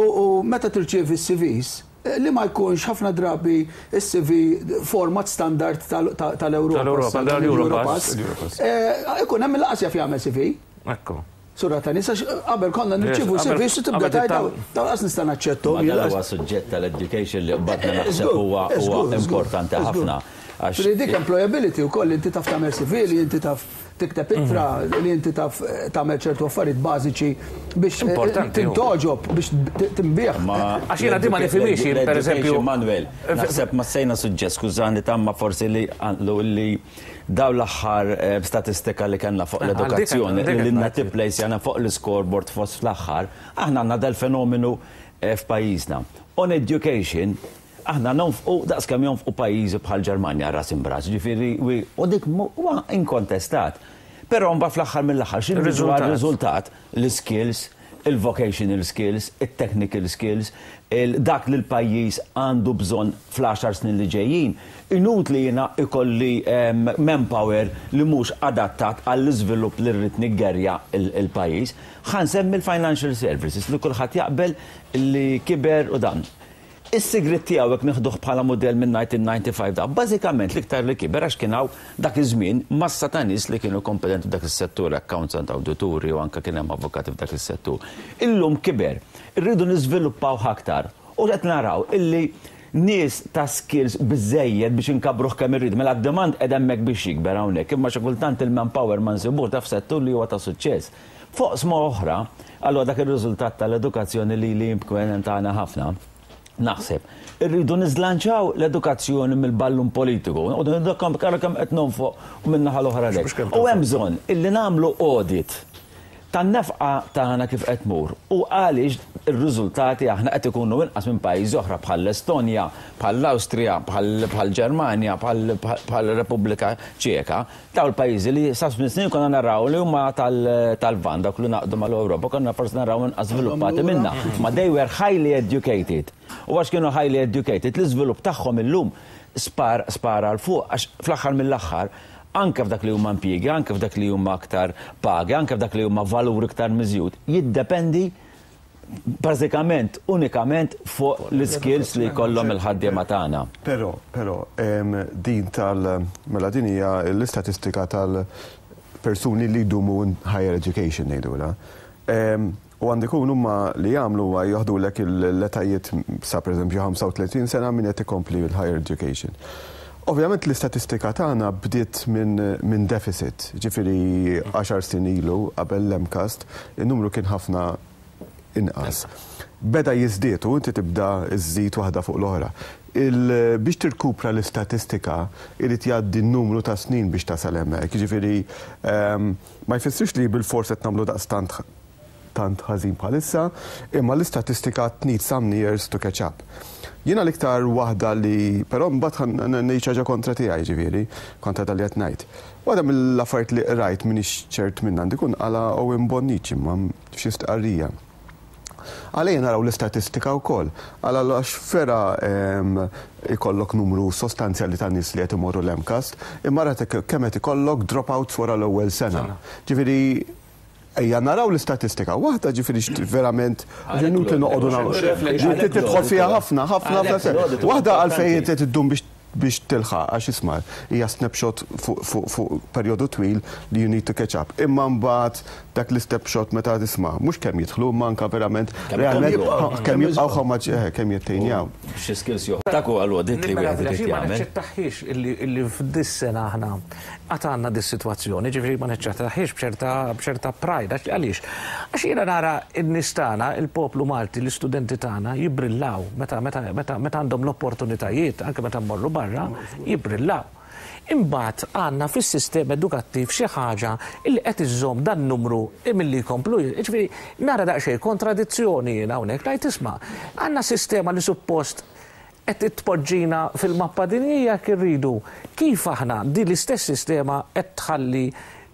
U meta tirċievi s-CVs, li ma jkunx ħafna drabi s-CV format standard tal-Europa. Tal-Europa, Ikun hemm il-qasja jagħmel CV. Ekku. Sura ta' nies għax qabel konna nirċievu CVs u tibda tgħid dawn qas nista' naċċetthom. Ma dan huwa suġġett tal-education li qbadna naħseb huwa importanti ħafna. Ġifieri dik employability wkoll li inti taf tagħmel CV, li inti taf tikteb ittra, li inti taf tagħmel ċertu affarijiet bażiċi biex tintgħoġob, biex tinbiegħ. Għax jiena din ma nifhimhiex jien pereżempju. Manuel, naħseb massejna suġġett, skużani tamma forsi li li Dawn l-aħħar statistika li kellna fuq l-edukazzjoni li lilna tipplejsjana fuq l-iscoreboard fost fl-aħħar, aħna għandna dal-fenomenu f'pajjiżna. On education, aħna nonfqu daqs kemm jonfqu pajjiżi bħall-Ġermanja ras imb'ras, jiġifieri u dik huwa inkontestat. Però mbagħad fl-aħħar mill-aħħar x'inhu r-riżultat? L-iskills, il-vocational skills, it-technical skills, dak li l-pajjiż għandu bżonn fl-għaxar snin li ġejjin. Inutli jiena jkolli manpower li mhux adattat għall-iżvilupp li rrid niggerja l-pajjiż. Ħa nsemmi l-financial services li kulħadd jaqbel li kiber u dan. Is-sigriet tiegħu jekk nieħduh bħala mudell minn 1995 da, bażikament l-iktar li kiber għax kien hawn dak iż-żmien massa ta' nies li kienu kompetenti f'dak is-settur, accounts, awdituri u anke kien hemm avukati f'dak is-settur. Illum kiber. Irridu niżviluppawh aktar. U qed naraw illi nies ta' skills biżżejjed biex inkabbruh kemm irridu. Mela d-demand qiegħed hemmhekk biex jikber hawnhekk, imma xi kultant il-manpower ma nsibuhx da f'settur li huwa ta' suċċess. F'oqsma oħra, allura dak ir-riżultat tal-edukazzjoni lili jimpkwenentana ħafna, naħseb. Irridu niżlanċaw l-edukazzjoni mill-ballun politiku. Noqogħdu ngħidu kemm ara kemm qed nonfoq u min-naħa l-oħra le. U hemm bżonn illi nagħmlu audit tan-nefqa tagħna kif qed tmur u għaliex ir-riżultati aħna qed ikunu inqas minn pajjiżi oħra bħall-Estonja, bħall-Awstrija, bħall-Ġermanja, bħall-Repubblika Ċeka. Dawn il-pajjiżi li sa ftit snin konna naraw li huma tal-Lvant, dawk li ngħaqdu mal-Ewropa, konna forsi naraw inqas żviluppati minna. Ma they were highly educated. U għax kienu highly educated, l-iżvilupp tagħhom illum spar spara 'l fuq għax fl-aħħar mill-aħħar anke f'dak li huma impjiegi, anke f'dak li huma aktar pagi, anke f'dak li huma valur iktar miżjud, jiddependi bażikament, unikament fuq l-iskills li jkollhom il-ħaddiema tagħna. Però, però, din tal, mela din hija l-istatistika tal-persuni li jdumu in higher education ngħidulha. U għandu jkun huma li jagħmlu huwa joħdulek l-etajiet sa pereżempju 35 sena min qed ikompli l-higher education. Ovvjament l-istatistika tagħna bdiet minn deficit, jiġifieri għaxar snin ilu qabel l-MCAST, in-numru kien ħafna inqas. Beda jiżdied u inti tibda żżid waħda fuq l-oħra. Biex tirkupra l-istatistika irid jgħaddi numru ta' snin biex tasal hemmhekk, jiġifieri ma jfissirx li bilfors qed nagħmlu daqstant tant ħażin bħalissa, imma l-istatistika need some years to catch up. Jiena l-iktar waħda li, però mbagħad ngħid xi ħaġa kontra tiegħi ġifieri, kontra dak li qed ngħid. Waħda mill-affarijiet li qrajt m'iniex ċert minnha għandi jkun qalha Owen Bonnici imma f'xi stqarrija. Qal ejja naraw l-istatistika wkoll. Qal għax vera ikollok numru sostanzjali ta' nies li qed imorru l-MCAST, imma ara kemm qed ikollok dropouts wara l-ewwel sena. Ġifieri Ejja naraw l-istatistika waħda ġifieri verament inutli noqogħdu nagħmlu. Tidħol fiha ħafna, ħafna, ħafna. Waħda għalfejn inti iddum biex biex tilħaq għax isma' hija snapshot fuq perjodu twil li you need to catch up. Imma mbagħad dak l-snapshot meta tisma' mhux kemm jidħlu imma anke verament realment kemm jibqgħu how much kemm jettejnjaw. Xi skills joħroġ. Dak huwa l-audit li wieħed irid jagħmel. Ma naċċettahiex illi f'dis-sena aħna Għad għandna dis-sitwazzjoni, ġifieri ma niċċattahiex b'ċerta b'ċerta pride, għax għaliex? Għax jiena nara n-nies tagħna, il-poplu Malti, l-istudenti tagħna jibbrillaw meta meta meta meta għandhom l-opportunitajiet, anke meta mmorru barra, jibbrillaw. Imbagħad għandna fis-sistema edukattiv xi ħaġa li qed iżżomm dan-numru milli jkomplu, jiġifieri nara daqsxejn kontradizzjoni jien hawnhekk, ngħid isma' għandna sistema li suppost Qed tpoġġina fil-mappa dinjija jekk irridu. Kif aħna din l-istess sistema qed tħalli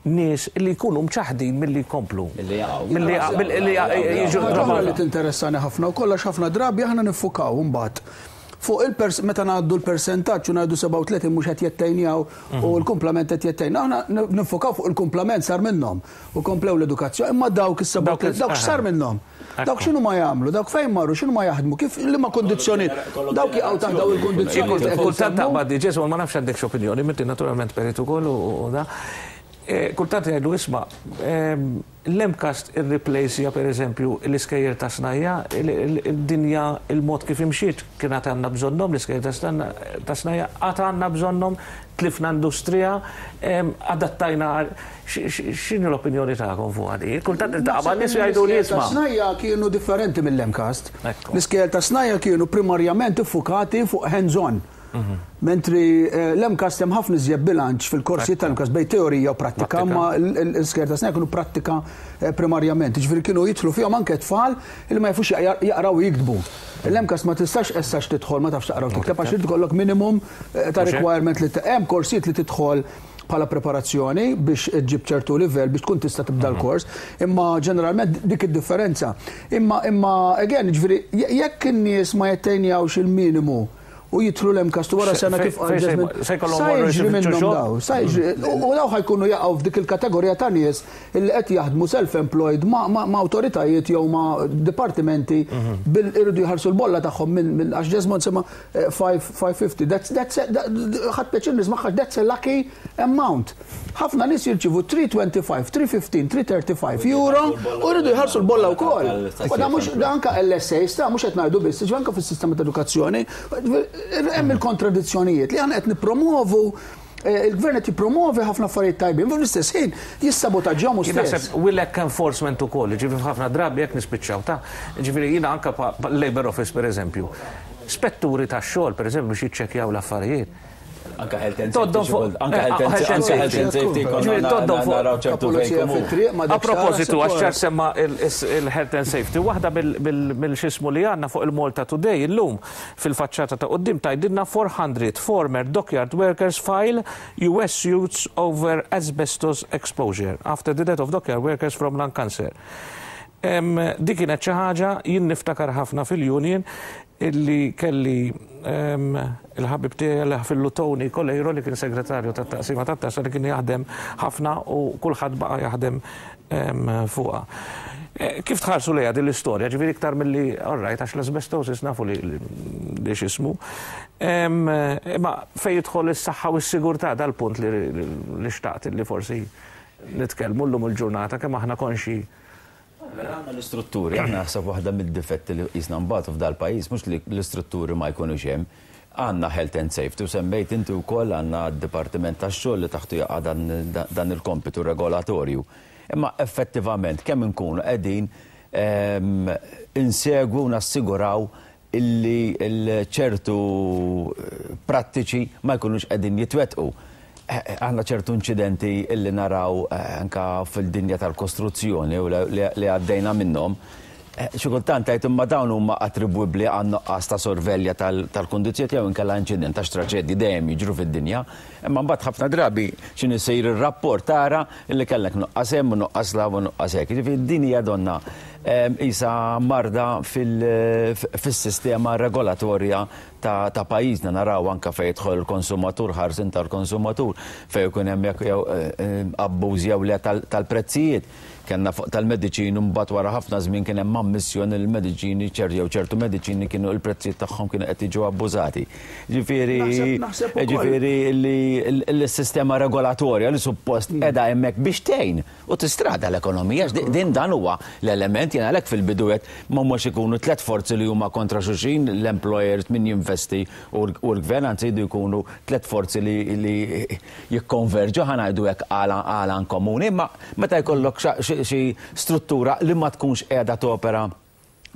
nies li jkunu mċaħħdin milli jkomplu? Milli jaqgħu. Milli jiġu. Ħaġa oħra li tinteressani ħafna wkoll għax ħafna drabi aħna niffukaw imbagħad fuq il-pers meta ngħaddu l-persentaġġ u ngħidu 37 mhux qed jettejnjaw u l-kumplament qed jettejna. Aħna niffukaw fuq il-kumplament sar minnhom u komplew l-edukazzjoni imma dawk is-37 dawk x'sar minnhom? Dawk x'inhu ma jagħmlu, dawk fejn marru, x'inhu ma jaħdmu, kif liema kundizzjonijiet. Dawk jaqgħu taħt dawn il-kundizzjonijiet. Kultant taqbad diġà, ma nafx għandekx opinjoni, inti naturalment perit ukoll u da. Kultant jgħidu isma' l-MCAST irriplejsja pereżempju l-iskejjel ta' snajja, id-dinja il-mod kif imxiet kien għad għandna bżonnhom l-iskejjel ta' snajja, għad għandna bżonnhom, tlifna industrija, adattajna x'inhi l-opinjoni tagħkom fuqha di? Kultant niltaqa' ma' nies u jgħiduli isma'. L-iskejjel ta' snajja kienu differenti mill-MCAST. L-iskejjel ta' snajja kienu primarjament iffukati fuq hands-on. Mentri l-MCAST hemm ħafna iżjed bilanċ fil-korsijiet tal-MCAST bejn teorija u prattika, imma l-iskejjel ta' snajja kienu prattika primarjament. Jiġifieri kienu jidħlu fihom anke tfal li ma jafux jaqraw u jiktbu. L-MCAST ma tistax essax tidħol ma tafx taqra u tikteb għax irid ikollok minimum ta' requirement li hemm korsijiet li tidħol bħala preparazzjoni biex iġġib ċertu livell biex tkun tista' tibda l-kors, imma ġeneralment dik id-differenza. Imma imma again, jiġifieri jekk in-nies ma jattejnjawx il-minimu u jidħlu l-MCAST wara sena kif qal Jesmond, sa jiġri minnhom daw, sa jiġri, u daw ħa jkunu jaqgħu f'dik il-kategorija ta' nies illi qed jaħdmu self-employed ma' awtoritajiet jew ma' dipartimenti bil iridu jħallsu l-bolla tagħhom minn għax Jesmond sema' 550, that's, that's, ħadt pjaċir nismagħha għax that's a lucky amount. Ħafna nies jirċievu 325, 315, 335 euro u jridu jħallsu l-bolla wkoll. U da mhux da anke LSAs ta' mhux qed ngħidu biss, ġifieri anke fis-sistema ta' edukazzjoni hemm il-kontradizzjonijiet li aħna qed nippromovu eh, il-gvern qed jippromovi ħafna affarijiet tajbin, fl-istess ħin jissabotaġġjahom hu stess. Naħseb will enforcement ukoll, ġifieri ħafna drabi jekk nispiċċaw ta' ġifieri jiena anke Labor Office pereżempju, spetturi tax-xogħol pereżempju biex jiċċekkjaw l-affarijiet. Anka health and safety. Anka health and safety. Toddhom fuq. A propositu, għax ċar semma il-health and safety, waħda mill-xismu li għandna fuq il-Malta Today illum fil-faċċata ta' quddiem tgħidilna 400 former dockyard workers file US suits over asbestos exposure after the death of dockyard workers from lung cancer. Dik kienet xi ħaġa jien niftakar ħafna fil-union illi kelli il-ħabib tiegħi li ħafillu Tony Coleiro li kien segretarju tat-taqsima tat-taxxa li kien jaħdem ħafna u kulħadd baqa' jaħdem fuqha. Kif tħarsu lejha din l-istorja, ġifieri iktar milli all right għax l-asbestosis nafu li li x'ismu. Imma fejn jidħol is-saħħa u s-sigurtà dal-punt li xtaqt li forsi nitkellmu llum il-ġurnata kemm aħna konxji. Mela għandna l-istrutturi, aħna naħseb waħda mid-difetti li qisna nbatu f'dal-pajjiż mhux li l-istrutturi ma jkunux hemm. Għandna health and safety u semmejt inti wkoll għandna d-Dipartiment tax-Xogħol li taħtu jaqa' dan il-kompitu regolatorju. Imma effettivament kemm inkunu qegħdin insegwu u nassiguraw illi ċertu prattiċi ma jkunux qegħdin jitwettqu. Aħna ċertu inċidenti illi naraw anka fil-dinja tal-kostruzzjoni u li għaddejna minnhom, xi kultant tgħid imma dawn huma attribwibbli għan nuqqas ta' sorvelja tal-kundizzjoni jew inkella inċident għax traġedji dejjem jiġru fid-dinja. Imma mbagħad ħafna drabi x'inhi jsir ir-rapport tara illi kellek nuqqas hemm u nuqqas 'l hawn u nuqqas hekk. Jiġifieri din hija donna qisha marda fis-sistema regolatorja ta' pajjiżna. Naraw anke fejn jidħol il-konsumatur, ħarsien tal-konsumatur, fejn ikun hemm jekk jew abbuż jew le tal-prezzijiet. Kellna fuq tal-mediċini mbagħad wara ħafna żmien kien hemm ammissjoni li l-mediċini jew ċertu mediċini kienu l-prezzijiet tagħhom kienu qed jiġu abbużati. Ġifieri ġifieri li s-sistema regolatorja li suppost qiegħda hemmhekk biex tgħin u tistrada l-ekonomija, għax din dan huwa l-element, jien għalhekk fil-bidu għedt ma humiex ikunu tlett forzi li huma kontra xulxin, l-employers, min jinvesti u l-gvern, anzi jridu jkunu tlett forzi li jikkonverġu, ħa ngħidu hekk, għal għan komuni, imma meta jkollok xi struttura li ma tkunx qiegħda topera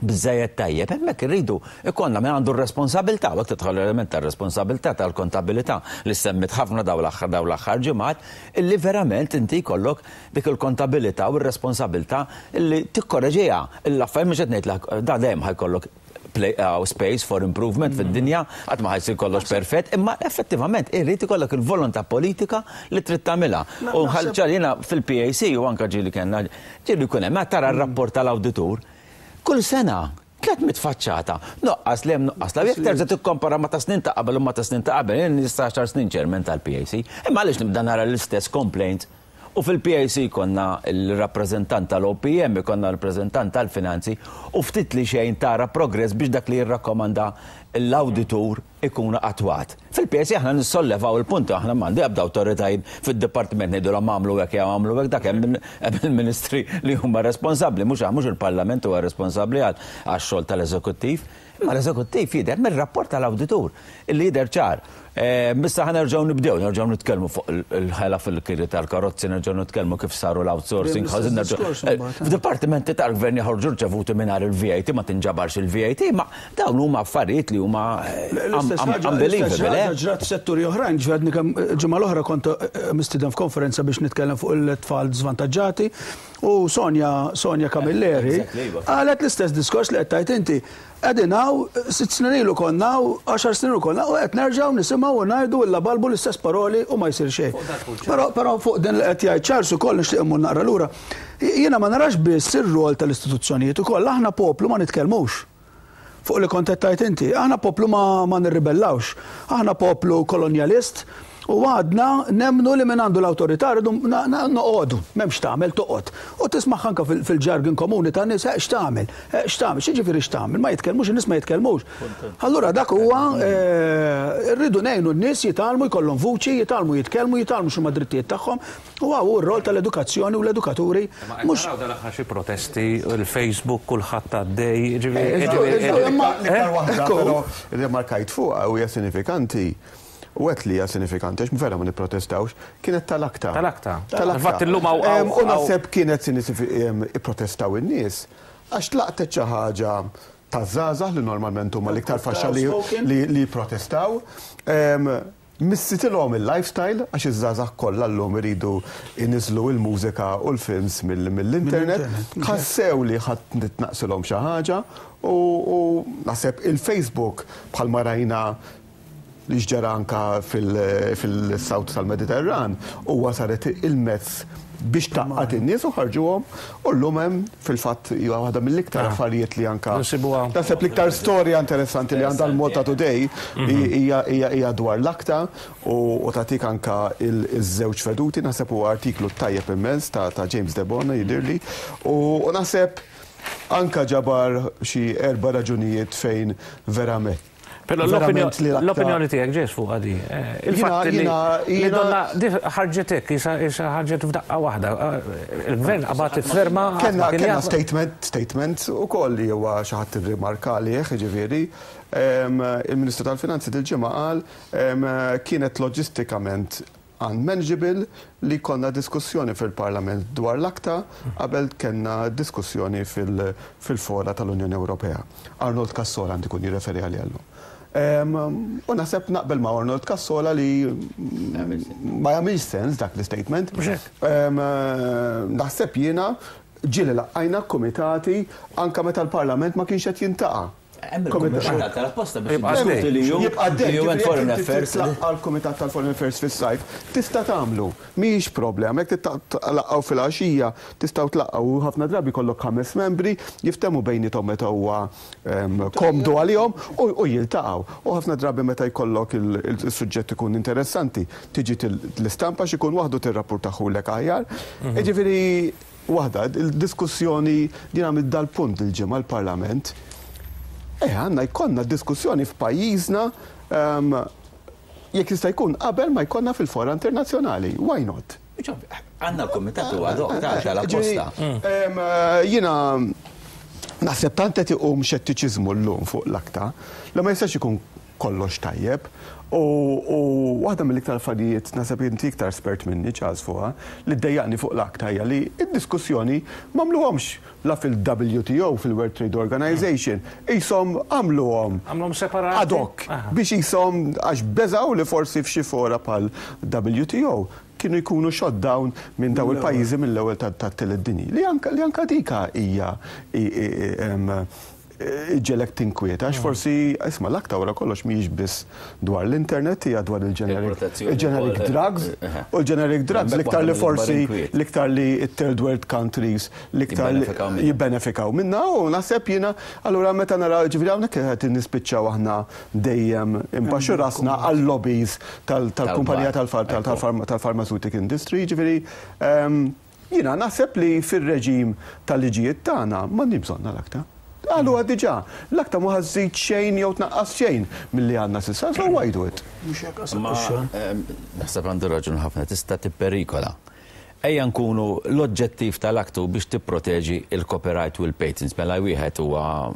biżżejjed tajjeb, hemmhekk irridu jkollna min għandu r-responsabilità, u hekk tidħol l-element tar-responsabilità tal-kontabilità li ssemmiet ħafna dawn l-aħħar dawn l-aħħar ġimgħat, illi verament inti jkollok dik il-kontabilità u r-responsabilità illi tikkoreġiha l-affarijiet mhux qed ngħid li da dejjem ħa jkollok play space for improvement fid-dinja, qatt ma ħa jsir kollox perfett, imma effettivament irid ikollok il-volontà politika li trid tagħmilha. U jiena fil-PAC u anke ġieli kellna ġieli jkun hemm, tara r-rapport tal-awditur, Kull sena, 300 faċċata. Nuqqas 'l hemm, nuqqas 'l hawn. Jekk terġa' tikkompara ma' ta' snin ta' qabel u ma' ta' snin ta' qabel, jien ili issa għaxar snin chairman tal-PAC, imma għaliex nibda nara l-istess complaints? U fil-PAC jkollna l-rappreżentant tal-OPM, ikollna rappreżentant tal-finanzi u ftit li xejn tara progress biex dak li jirrakkomanda l-awditur. ikun attwat. Fil-PSA aħna nissollevaw il-punti, aħna m'għandi ebda awtoritajiet fid-dipartiment ngħidulhom agħmlu hekk jew agħmlu hekk, dak hemm il-ministri li huma responsabbli, mhux mhux il-Parlament huwa responsabbli għax-xogħol tal-eżekuttiv. Imma l-eżekuttiv jidher mir-rapport tal-awditur illi jidher ċar. Issa ħa nerġgħu nibdew, nerġgħu nitkellmu fuq il-ħela fil-kiri tal-karozzi, nerġgħu nitkellmu kif saru l-outsourcing, ħażin nerġgħu. F'dipartimenti tal-gvern joħorġu rċevuti mingħajr il-VAT, ma tinġabarx il-VAT, ma dawn huma affarijiet li huma unbelievable. Eh? Ġrat f'setturi oħrajn, ġratni kemm ġimgħa l-oħra kont mistieden f'konferenza biex nitkellem fuq il-tfal żvantaġġati u Sonja Sonja Camilleri iva. qalet l-istess diskors li qed tgħid inti. Qegħdin hawn, sitt snin ilu konna hawn, għaxar snin ilu konna hawn u qed nerġgħu nisimgħu u ngħidu illa balbu l-istess paroli u ma jsir xejn. Però però fuq din li qed jgħid Charles ukoll nixtieq immur naqra lura. Jiena ma narax biss ir-rwol tal-istituzzjonijiet ukoll, aħna poplu ma nitkellmux. Fuq li kont qed tgħid inti, aħna poplu ma ma nirribellawx. Aħna poplu kolonjalist U għadna nemmnu li min għandu l-awtorità rridu noqogħdu, m'hemmx x'tagħmel, toqgħod. U tismagħha anke fil-jargon komuni tan-nies, eh x'tagħmel, eh x'tagħmel, x'jiġifieri x'tagħmel, ma jitkellmux, in-nies ma jitkellmux. Allura dak huwa rridu ngħinu n-nies jitgħallmu jkollhom vuċi, jitgħallmu jitkellmu, jitgħallmu x'huma d-drittijiet tagħhom u hawn hu r-rol tal-edukazzjoni u l-edukaturi. Imma qed naraw dal-aħħar xi protesti, il-Facebook kulħadd għaddej, jiġifieri. L-iktar waħda però rrimarkajt fuqha u hija sinifikanti U għedt li hija sinifikanti għax vera ma nipprotestawx, kienet tal-akta. Tal-akta. Tal-akta. Infatti llum hawn. U naħseb kienet ipprotestaw in-nies għax tlaqtet xi ħaġa taż-żgħażagħ li normalment huma l-iktar faxxa li jipprotestaw. Missitilhom il-lifestyle għax iż-żgħażagħ kollha llum iridu jniżżlu l-mużika u l-films mill-internet. Ħassew li ħa tnaqsilhom xi ħaġa u naħseb il-Facebook bħalma rajna li x'ġara anka fil-South tal-Mediterran huwa saret il-mezz biex tgħaqqad in-nies u ħarġuhom u llum hemm fil-fatt hija waħda mill-iktar affarijiet li anka naħseb l-iktar storja interessanti li għandha l-Malta Today hija dwar l-akta u tagħtik anka iż-żewġ veduti naħseb huwa artiklu tajjeb immens ta' James Debono jidhirli u naħseb anka ġabar xi erba' raġunijiet fejn verament Però l-opinjoni tiegħek ġejs fuq għadi. Eh, il-fatt li donna ħarġet hekk, isa ħarġet f'daqqa waħda. Eh, il-gvern qabad ferma. Kenna statement, statement ukoll li huwa xi ħadd irrimarka għalih, jiġifieri, il-Ministru tal-Finanzi dil-ġimgħa qal kienet loġistikament unmanageable li jkollna diskussjoni fil-Parlament dwar l-ACTA qabel kellna diskussjoni fil-fora tal-Unjoni Ewropea. Arnold Cassola għandu jkun jirreferi għaliha llum. U naħseb naqbel ma' Arnold Cassola li ma jagħmilx sens dak l-istatement. Naħseb jiena ġieli laqqajna kumitati anke meta l-Parlament ma kienx qed jintaqa'. Hemm il-kumitat tal-apposta biex jiddiskuti li hu Jibqa' għaddej. UN Foreign Affairs. Tlaqqa' l-Kumitat tal-Foreign Affairs fis-sajf, tista' tagħmlu. Mhijiex problema. Jekk tlaqqgħu filgħaxija, tistgħu tlaqqgħu u ħafna drabi jkollok ħames membri, jiftehmu bejniethom meta huwa komdu għalihom u jiltaqgħu. U ħafna drabi meta jkollok is-suġġett ikun interessanti, tiġi l-istampa għax ikun waħdu tirrappurtahulek aħjar. Jiġifieri Waħda, il-diskussjoni li għamilt dal-punt dil-ġimgħa l-Parlament, eh għandna jkollna diskussjoni f'pajjiżna ehm, jekk jista' jkun qabel ma jkollna fil-fora internazzjonali. Why not? Għandna l-kumitat huwa dok ta' tal-apposta. Ehm, jiena naħseb tant qed iqum xettiċiżmu llum fuq l-akta li ma jistax ikun kollox tajjeb. U waħda mill-iktar affarijiet, naħseb inti iktar espert minni Charles fuqha, li ddejjaqni fuq l-ACTA hija li d-diskussjoni m'għamluhomx la fil-WTO, fil-World Trade Organization, qishom għamluhom Għamluhom separati? ad hoc biex qishom għax beżgħu li forsi f'xi fora bħal WTO kienu jkunu shot down minn dawn il-pajjiżi mill-ewwel tat-tielet dinji. Li anka dika hija iġġegħlek tinkwieta għax forsi isma' l-aktar wara kollox mhijiex biss dwar l-internet hija dwar il-generic drugs u l-generic drugs l-iktar li forsi l-iktar li third world countries l-iktar jibbenefikaw minna u naħseb jiena allura meta nara ġifieri hawnhekk qed nispiċċaw aħna dejjem imbaxxu rasna għal-lobbies tal-kumpanija tal-pharmaceutical industry ġifieri jiena naħseb li fir-reġim tal-liġijiet tagħna m'għandniex bżonna l-aktar. Qaluha diġà. L-ACTA mhu ħa żżid xejn jew tnaqqas xejn milli għandna s'issa, so why do it? Mhux hekk qasab Imma ix-xogħol. naħseb għandu raġun ħafna, tista' tipperikola. Ejja nkunu l-oġġettiv tal-ACTA hu biex tipproteġi l-copyright u l-patents. Mela wieħed huwa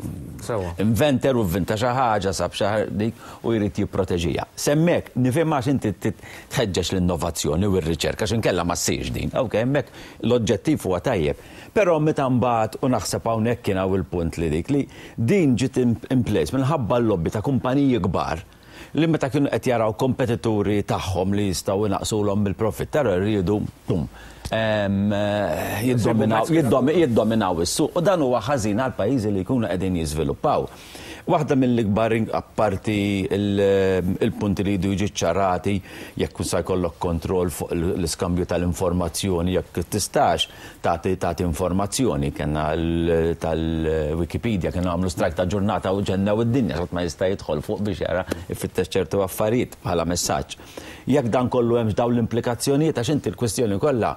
inventor u vvinta xi ħaġa, sab xi dik u jrid jipproteġiha. S'hemmhekk nifhem għax inti tħeġġeġ l-innovazzjoni u r-riċerka għax inkella ma ssirx din. Ok, hemmhekk l-oġġettiv huwa tajjeb. Però meta mbagħad, u naħseb hawnhekk kien hawn il-punt li dik, li din ġiet in place minħabba l-lobby ta' kumpaniji kbar li meta kienu qed jaraw kompetituri tagħhom li jistgħu jnaqqsulhom mill-profitt, tara riedu, pum, jiddominaw, jiddominaw is-suq u dan huwa ħażin għal pajjiżi li jkunu qegħdin jiżviluppaw. Waħda mill-ikbar, apparti l-punti li jridu jiġu ċċarati, jekk sa jkollok kontroll fuq l-iskambju tal-informazzjoni, jekk tistax tagħti tagħti informazzjoni, kellna tal-Wikipedia kienu għamlu strajk ta' ġurnata u ġennew id-dinja, ħadd ma jista' jidħol fuq biex jara ifittex ċertu affarijiet bħala messaġġ. Jekk dan kollu hemmx dawn l-implikazzjonijiet, għax inti l-kwistjoni kollha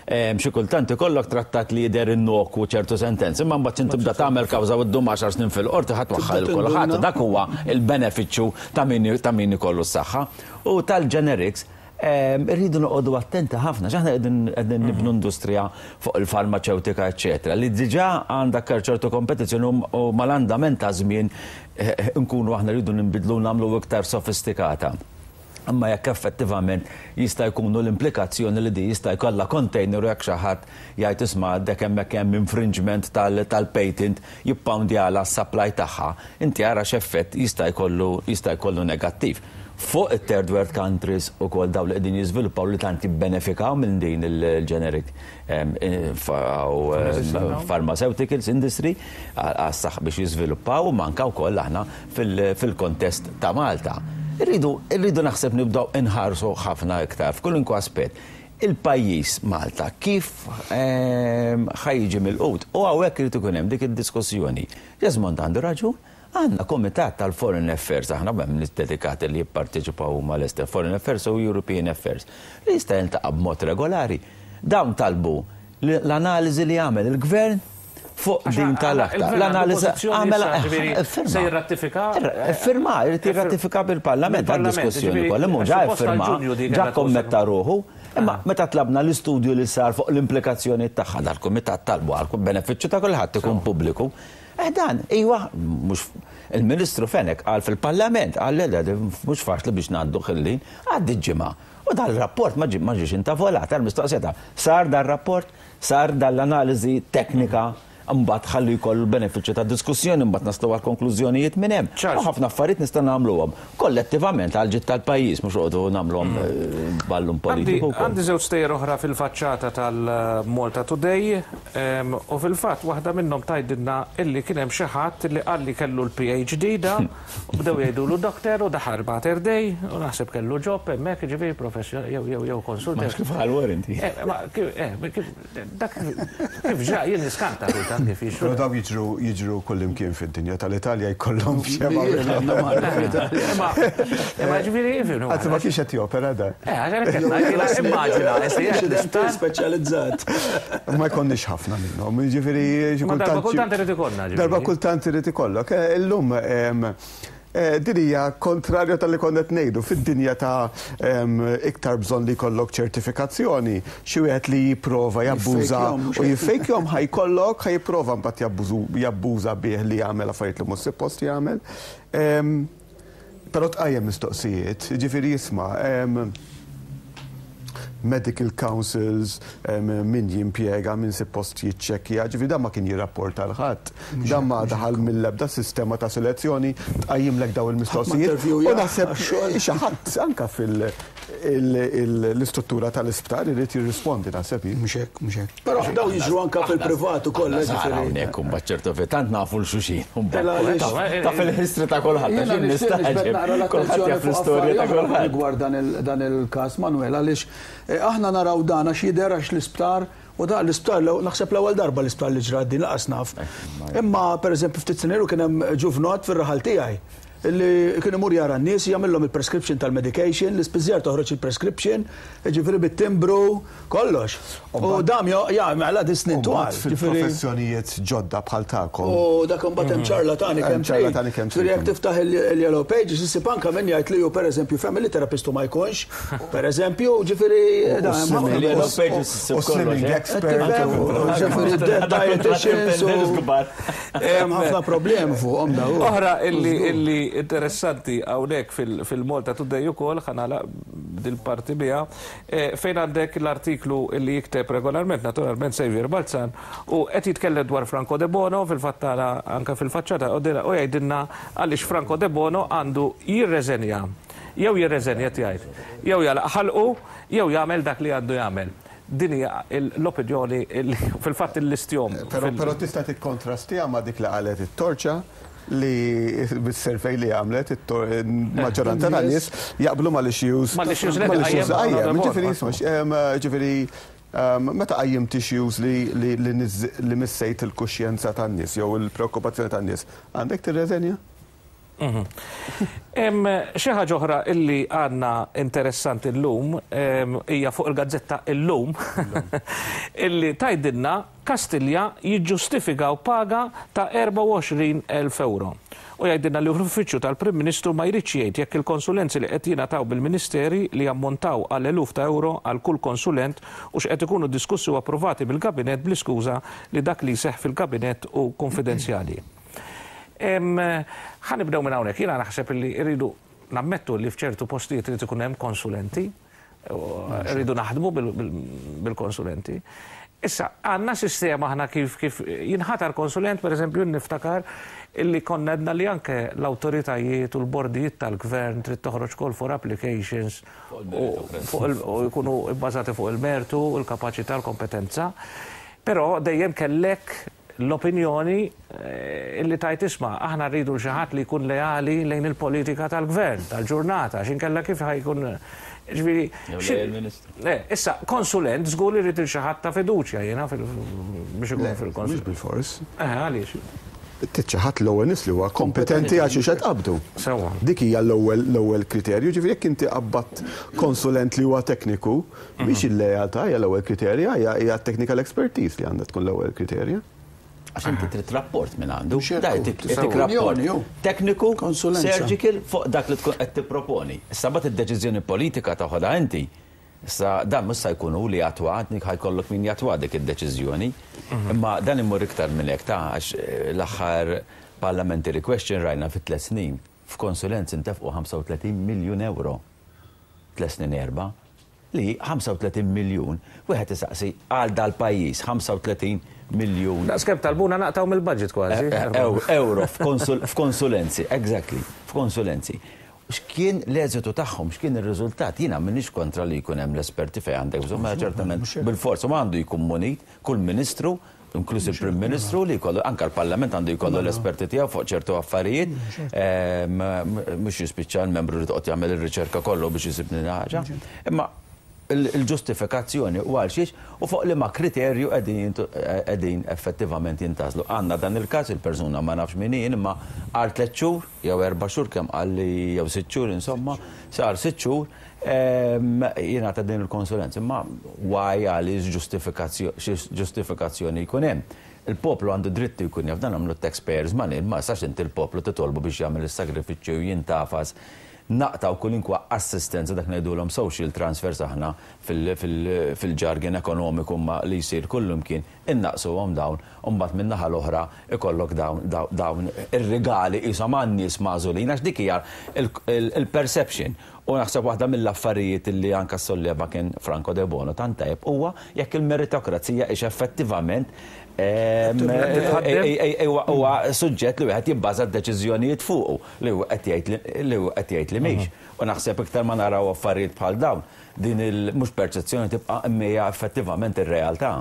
xi kultant ikollok trattat li jidher innokwu ċertu sentenzi, imma mbagħad x'int tibda tagħmel kawża u ddum għaxar snin fil-qorti ħadd waħħal il kulħadd. Dak huwa l-benefiċċju ta' min ta' min ikollu s-saħħa. U tal-generics, irridu noqogħdu attenti ħafna għax aħna qegħdin qegħdin nibnu industrija fuq il-farmaċewtika eċċetera li diġà għandha ċertu kompetizzjoni u mal-andament taż-żmien nkunu aħna rridu ninbidlu u nagħmlu iktar sofistikata. Imma jekk effettivament jista' jkunu l-implikazzjoni li di jista' jkollha container u jekk xi ħadd jgħid isma' għaddek hemmhekk hemm infringement tal-patent jippoundjala s-supply tagħha, inti ara x'effett jista' jkollu jista' jkollu negattiv. Fuq it-third world countries ukoll dawn li qegħdin jiżviluppaw li tant jibbenefikaw minn din il-generic pharmaceuticals industry għas-saħħa biex jiżviluppaw imma anke wkoll aħna fil-kontest ta' Malta. Irridu, irridu naħseb nibdew inħarsu ħafna iktar f'kulunkwe aspett il-pajjiż Malta kif ħa jiġi milqut. U hawnhekk irid ikun hemm dik id-diskussjoni. Jesmond għandu raġun, għandna kumitat tal-Foreign Affairs, aħna hemm nies dedikati li jipparteċipaw huma lesti, Foreign Affairs u European Affairs, li jista' jiltaqa' b'mod regolari. Dawn talbu l-analiżi li għamel il-Gvern fuq din tal-akta. L-analiżi għamel firma. Se jirratifika? Firma, jrid jirratifika bil-Parlament għad-diskussjoni kollha. Imma ġa firma, ġa kommetta ruħu. Imma meta tlabna l-istudju li sar fuq l-implikazzjoni tagħha dal-kumitat talbu għal benefiċċju ta' kulħadd ikun pubbliku. Eh dan, iwa, mhux il-Ministru Fenech qal fil-Parlament, qal le mhux faċli biex ngħaddu ħillin, għaddi ġimgħa. U dal-rapport ma ġiex intavolat, għal-mistoqsija ta' sar dal-rapport, sar dal-analiżi teknika, mbagħad ħalli jkollu l-benefiċċju ta' diskussjoni, mbagħad naslu għal konklużjonijiet minn hemm. U ħafna affarijiet nistgħu nagħmluhom kollettivament għal ġid tal-pajjiż, mhux noqogħdu nagħmluhom ballun politiku. Għandi żewġ stejjer oħra fil-faċċata tal-Malta Today u fil-fatt waħda minnhom tgħidilna illi kien hemm xi ħadd li qal li kellu l-PhD da u bdew jgħidulu doctor u daħal Mater Dei u naħseb kellu job hemmhekk ġifieri professjon jew jew jew konsultant. Ma kif ħal warranty. Ma kif dak kif ġra jien niskanta kultant kif jiġru. Però daw jiġru jiġru kullimkien fid-dinja tal-Italja jkollhom xema. Imma imma ġifieri jifhmu. Għazzi ma kienx qed jopera da. Eh, għax immaġina, speċjalizzat. Ma jkollniex ħafna minnhom, jiġifieri xi kultant. Darba kultant irid ikollna. Darba kultant irid ikollok. Illum Din hija kontrarju tal-li konna qed ngħidu. Fid-dinja ta' iktar bżonn li jkollok ċertifikazzjoni, xi wieħed li jipprova jabbuża u jiffejkjhom ħa jkollok, ħa jipprova mbagħad jabbuża bih li jagħmel affarijiet li mhux suppost jagħmel. Però tqajjem mistoqsijiet, jiġifieri isma' medical councils, min jimpjega, min suppost jiċċekkja, ġifieri dan ma kien jirrapporta 'l ħadd. Dan ma daħal mill-ebda sistema ta' selezzjoni tqajjimlek dawn il-mistoqsijiet. U naħseb xi ħadd anke fil-istruttura tal-isptar irid jirrispondi naħseb jien. Mhux hekk, mhux hekk. Però dawn jiġru anke fil-privat ukoll. Aħna hawnhekk imbagħad ċertu tant nafu 'l xulxin. Taf il-history ta' kulħadd. Jiena nixtieq niġbed naqra l-attenzjoni fuq affarijiet oħra rigward dan il-każ Manuel għaliex aħna naraw dan għax jidher għax l-isptar u da l-isptar naħseb l-ewwel darba l-isptar li ġrat din laqas naf. Imma pereżempju ftit snin ilu kien hemm ġuvnott fir-raħal tiegħi. Li kien imur jara n-nies, jagħmilhom il-prescription tal-medication, l-ispiżjar toħroġ il-prescription, jiġifieri bit-timbru, kollox. U dam jagħmel għad snin twal. Fil-professjonijiet ġodda bħal tagħkom. U dak imbagħad hemm ċarlatani kemm ċarlatani kemm. Ġifieri jekk tiftaħ il-yellow pages issib anke min jgħid li hu pereżempju family therapist u ma jkunx, pereżempju, ġifieri Il-yellow pages issib U slimming expert. Ġifieri dietitians u Hemm ħafna problemi fuqhom dawn. Oħra illi illi interessanti hawnhekk fil-Malta Today ukoll ħa nagħlaq dil-parti biha fejn għandek l-artiklu illi jikteb regolarment naturalment Saviour Balzan u qed jitkellem dwar Franco Debono fil-fatt tara anke fil-faċċata u jgħidilna għaliex Franco Debono għandu jirreżenja jew jirreżenja qed jgħid jew jagħlaq ħalqu jew jagħmel dak li għandu jagħmel. Din hija l-opinjoni li fil-fatt illistjhom. Però tista' tikkontrastiha ma' dik li qalet it-Torċa li bis-survey li għamlet il-maġġoranza tan-nies jaqblu mal-issues. Mal-issues li qajjem. Ġifieri, ġifieri meta qajjimt issues li missejt il-kuxjenza tan-nies jew il-preokkupazzjoni tan-nies, għandek tirreżenja? Xi ħaġa oħra illi għandna interessanti llum hija fuq il-gazzetta Illum illi tgħidilna Kastilja jiġġustifikaw paga ta' 24,000 ewro. U jgħidilna li l-Uffiċċju tal-Prim Ministru ma jridx jgħid jekk il-konsulenzi li qed jingħataw bil-Ministeri li jammontaw għal eluf ta' ewro għal kull konsulent hux qed ikunu diskussi u approvati mill-Kabinett bl-iskuża li dak li jseħħ fil-Kabinett hu kunfidenzjali. Ħa nibdew minn hawnhekk. Jiena naħseb li rridu nammettu li f'ċertu postijiet irid ikun hemm konsulenti, rridu naħdmu bil-konsulenti. Issa, għandna sistema aħna kif kif jinħatar konsulent, pereżempju, niftakar illi konna għedna li anke l-awtoritajiet u l-bordijiet tal-gvern trid toħroġ call for applications u jkunu bbażati fuq il-mertu, il-kapaċità, l-kompetenza. Però dejjem kellek l-opinjoni illi tgħid isma' aħna rridu 'l xi ħadd li jkun leali lejn il-politika tal-gvern, tal-ġurnata, għax inkella kif ħa jkun ġifieri. Jew lejn il-Ministru. Eh, issa, konsulent żgur li rrid 'il xi ħadd ta' fiduċja jiena biex ikun fil-konsulent. Mhux bilfors. Eh, għaliex? Trid xi ħadd l-ewwel nies li huwa kompetenti għal xiex qed tqabbdu. Sewwa. Dik hija l-ewwel l-ewwel kriterju, ġifieri jekk inti qabbadt konsulent li huwa tekniku, Mhix il-lealtà hija l-ewwel kriterja, hija t-technical expertise li għandha tkun l-ewwel kriterja. Għax inti trid rapport minn għandu. Da jtik rapport tekniku, surgical fuq dak li tkun qed tipproponi. Issa mbagħad id-deċiżjoni politika toħodha inti. Issa dan mhux sa jkun hu li jattwa, ħa jkollok min jattwa dik id-deċiżjoni. Imma dan imur iktar minn hekk ta' għax l-aħħar parliamentary question rajna fi tliet snin f'konsulenzi ntefqu 35 miljun ewro. Tliet snin erba'. Li 35 miljun, wieħed isaqsi għal dal-pajjiż 35 miljun. Daqs kemm talbuna naqtgħu mill-budget kważi. Ewro f'konsulenzi, exactly, f'konsulenzi. X'kien l-eżitu tagħhom, x'kien ir-riżultat? Jiena m'iniex kontra li jkun hemm l-esperti fejn għandek bżonn, mela ċertament bilfors u għandu jkun munit kull ministru inkluż il-Prim Ministru li jkollu, anke l-Parlament għandu jkollu l-esperti tiegħu fuq ċertu affarijiet, mhux jispiċċa l-membru li toqgħod jagħmel ir-riċerka kollu biex isib din ħaġa. Imma il-ġustifikazzjoni u għal xiex u fuq liema kriterju qegħdin effettivament jintgħażlu. Għandna dan il-każ, il-persuna ma nafx min hi imma għal tliet xhur jew erba' xhur kemm qal li jew sitt xhur insomma, sar sitt xhur jingħata din il-konsulenza. Imma why għaliex xi ġustifikazzjoni jkun hemm. Il-poplu għandu dritt jkun jaf dan għamlu taxpayers money, ma jistax inti l-poplu titolbu biex jagħmel is-sagrifiċċju u jintafas naqtgħu kulinkwa assistenza dak ngħidulhom social transfers aħna fil-jargon ekonomiku imma li jsir kullimkien innaqqsuhom dawn u mbagħad min-naħa l-oħra ikollok dawn dawn ir-rigali qishom għan-nies magħżulin għax dik hija l-perception. U naħseb waħda mill-affarijiet li anke ssolleva kien Franco Debono tant tajjeb huwa jekk il-meritokrazija hix effettivament huwa suġġett li wieħed jibbaża d-deċiżjonijiet fuqu li hu qed jgħid li hu qed jgħid li mhix. U naħseb iktar ma naraw affarijiet bħal dawn, din il mhux perċezzjoni tibqa' imma hija effettivament ir-realtà.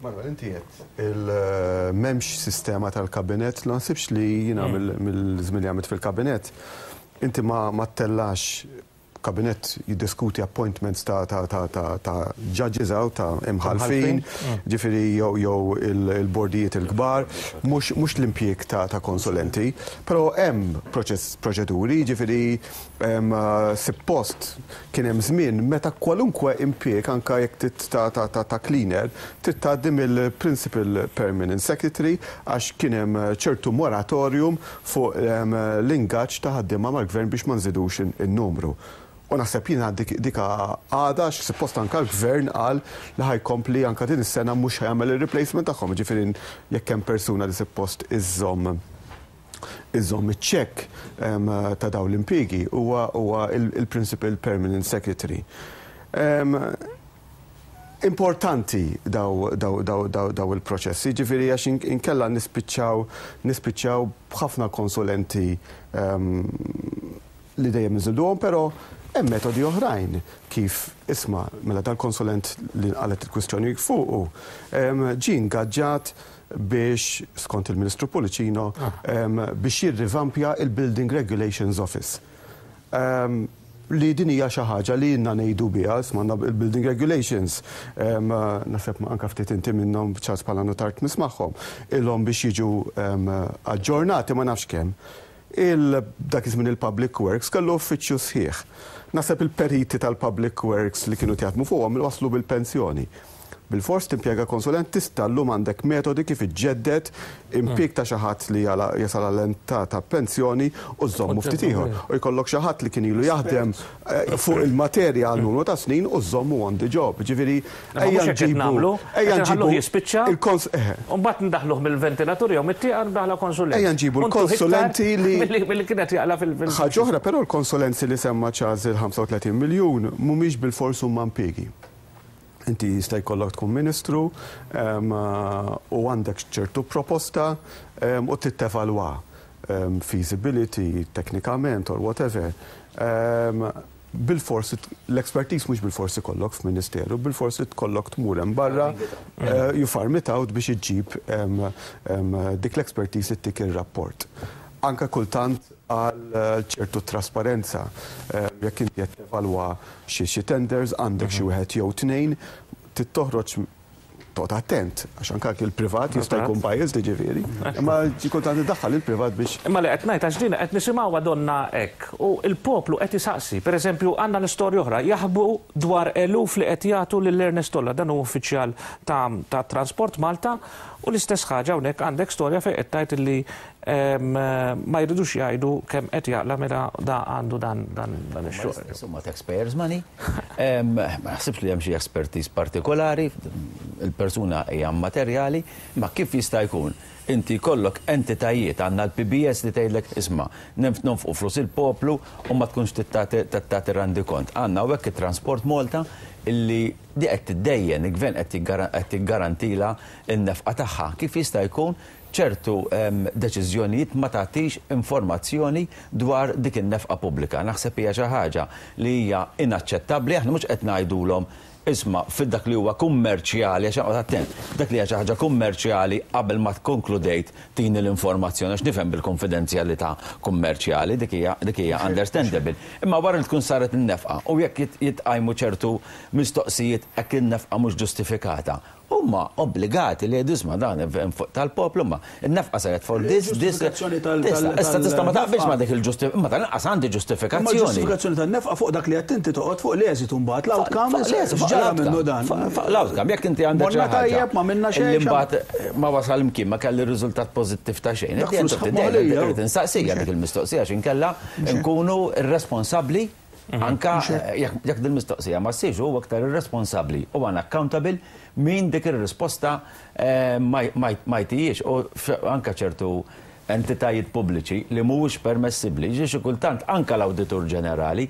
Manuel, inti għedt il m'hemmx sistema tal-kabinett, ma naħsibx li jiena mill-żmien li għamilt fil-kabinett, inti ma ma ttellax. Kabinett jiddiskuti appointments ta' ta' ta' ta' ta' judges hawn, ta' imħallfin, ġifieri jew jew il-bordijiet il-kbar, mhux mhux l-impjieg ta' ta' konsulenti. Però hemm proċess proċeduri, ġifieri sippost kien hemm żmien meta kwalunkwe impjieg anke jekk trid ta' ta' ta' ta' cleaner trid tgħaddi mill-Principal Permanent Secretary għax kien hemm ċertu moratorium fuq l-ingaġġ ta' ħaddiema mal-Gvern biex ma nżidux in-numru. U naħseb jiena dik dik għadha għax suppost anke l-Gvern qal li ħa jkompli anke din is-sena mhux ħa jagħmel ir-replacement tagħhom, jiġifieri jekk hemm persuna li suppost iżżomm iżżomm iċ-check ta' dawn l-impjiegi huwa huwa il-Principal Permanent Secretary. Importanti daw daw daw daw daw il-proċessi, ġifieri għax inkella nispiċċaw nispiċċaw b'ħafna konsulenti li dejjem inżiduhom, però hemm metodi oħrajn kif isma' mela dal-konsulent li nqalgħet il-kwistjoni fuqu ġie ingaġġat biex, skont il-Ministru Pullicino, biex jirrivampja il-Building Regulations Office. Li din hija xi ħaġa li ilna ngħidu biha, isma' għandna il-Building Regulations, naħseb anke ftit inti minnhom Charles bħala nutar tmiss magħhom, ilhom biex jiġu aġġornati ma nafx kemm. Dak iż-żmien il-Public Works kellu uffiċċju sħiħ. Naħseb il-periti tal-Public Works li kienu jaħdmu fuqhom waslu bil-pensjoni. Bilfors timpjega konsulent, tista' llum għandek metodi kif iġġedded impjieg ta' xi ħadd li jasal għal età ta' pensjoni u żżommu ftit ieħor. U jkollok xi ħadd li kien ilu jaħdem fuq il-materja għal numru ta' snin u żżommu on the job. Ġifieri ejja nġibu ejja nġibu jispiċċa. U mbagħad ndaħluh mill-ventilatur jew mit-tieqa ndaħla konsulent. Ejja nġibu l-konsulenti li milli kienet jaqla fil- Ħaġa oħra però l-konsulenzi li semma Charles il-35 miljun mhumiex bilfors huma impjiegi. Inti jista' jkollok tkun ministru u għandek ċertu proposta u trid tevalwa feasibility, teknikament or whatever. Bilfors l-expertise mhux bilfors ikollok f'ministeru, bilfors tkollok tmur hemm barra, you farm it out biex iġġib dik l-expertise ittik ir-rapport. Anka kultant għal ċertu trasparenza. Jekk inti qed tevalwa xi tenders, għandek xi wieħed jew tnejn, trid toħroġ toqgħod attent, għax anke il-privat jista' jkun biased ġifieri. Imma kultant iddaħħal il-privat biex. Imma li qed ngħid għax din qed nisimgħuha donna hekk u l-poplu qed isaqsi. Pereżempju għandna l-istorja oħra jaħbu dwar eluf li qed jagħtu lil Ernest Olla, dan hu uffiċjal ta' Transport Malta, u l-istess ħaġa hawnhekk għandek storja fejn qed tgħid li ma jridux jgħidu kemm qed jaqla mela da għandu dan dan dan ix-xogħol. Insomma taxpayers money. Ma naħsibx li hemm xi expertise partikolari, il-persuna hija materjali, ma kif jista' jkun inti jkollok entitajiet għandna l-PBS li tgħidlek isma' nonfqu flus il-poplu u ma tkunx tagħti rendikont. Għandna hawnhekk it-Transport Malta illi di qed tiddejjen, il-gvern qed jiggarantila n-nefqa tagħha. Kif jista' jkun ċertu deċiżjonijiet ma tagħtix informazzjoni dwar dik in-nefqa pubblika? Naħseb hija xi ħaġa li hija inaċċettabbli. Aħna mhux qed ngħidulhom isma' fil dak li huwa kummerċjali, għax oqgħod attent, dak li hija xi ħaġa kummerċjali qabel ma tkonkludejt tini l-informazzjoni, għax nifhem bil-konfidenzjalità kummerċjali, dik hija understandable. Imma wara li tkun saret in-nefqa u jekk jitqajmu ċertu mistoqsijiet hekk in-nefqa mhux ġustifikata, huma obbligati li jgħidu isma' dan fuq tal-poplu ma n-nefqa saret for this, this. Ġustifikazzjoni Issa tista' ma taqbilx ma dik il-ġustifikazzjoni, ma tal-inqas għandi Ma ġustifikazzjoni. ġustifikazzjoni tan-nefqa fuq dak li qed inti toqgħod fuq l-eżitu mbagħad l-outcome x'ġara minnu dan. Fuq l-outcome, jekk inti għandek Morna xi ħaġa tajjeb, ma minna xejn, Illi mbagħad ma wasal imkien, ma kelli riżultat pożittiv ta' xejn. Dak flus moħlija. Irrid insaqsija dik il-mistoqsija x'inkella nkunu irresponsabbli anka jekk din mistoqsija ma ssirx huwa aktar irresponsabbli u unaccountable min dik ir-risposta ma jtijiex u anka ċertu entitajiet pubbliċi li mhuwiex permessibbli, ġi xi kultant anka l-Awditur Ġenerali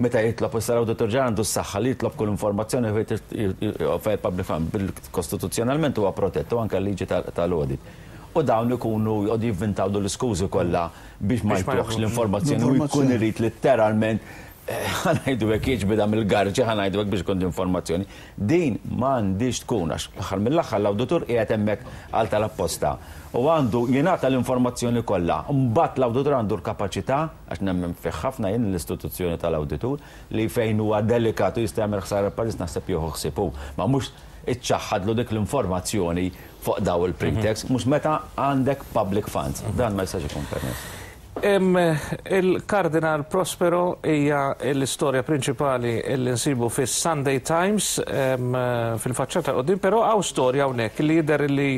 meta jitlob, issa l-Awditur Ġenerali għandu s-saħħa li jitlob kull informazzjoni fejn public fund bil-kostituzzjonalment huwa protett u anka l-liġi tal-audit. U dawn ikunu jqogħdu jivvintaw l-iskużi kollha biex ma jtuħx l-informazzjoni u jkun irid letteralment. Ħa ngħidu hekk, jiġbidha mill-garġi, ħa ngħidu hekk, biex ikun informazzjoni. Din m'għandhiex tkun, għax l-aħħar mill-aħħar l-awditur qiegħed hemmhekk għal tal-apposta u għandu jingħata l-informazzjoni kollha. Mbagħad l-awditur għandu l-kapaċità, għax nemmen fih ħafna jien l-istituzzjoni tal-awditur, li fejn huwa delikat u jista' jagħmel ħsara l-pajjiż naħseb jieħu ħsieb hu. Ma mhux iċċaħħadlu dik l-informazzjoni fuq daw il-pretext, mhux meta għandek public funds. Dan ma jistax ikun permess. Il-Kardinal Prospero hija l-istorja prinċipali li nsibu fis-Sunday Times fil-faċċata quddiem, però hawn storja hawnhekk li jidher li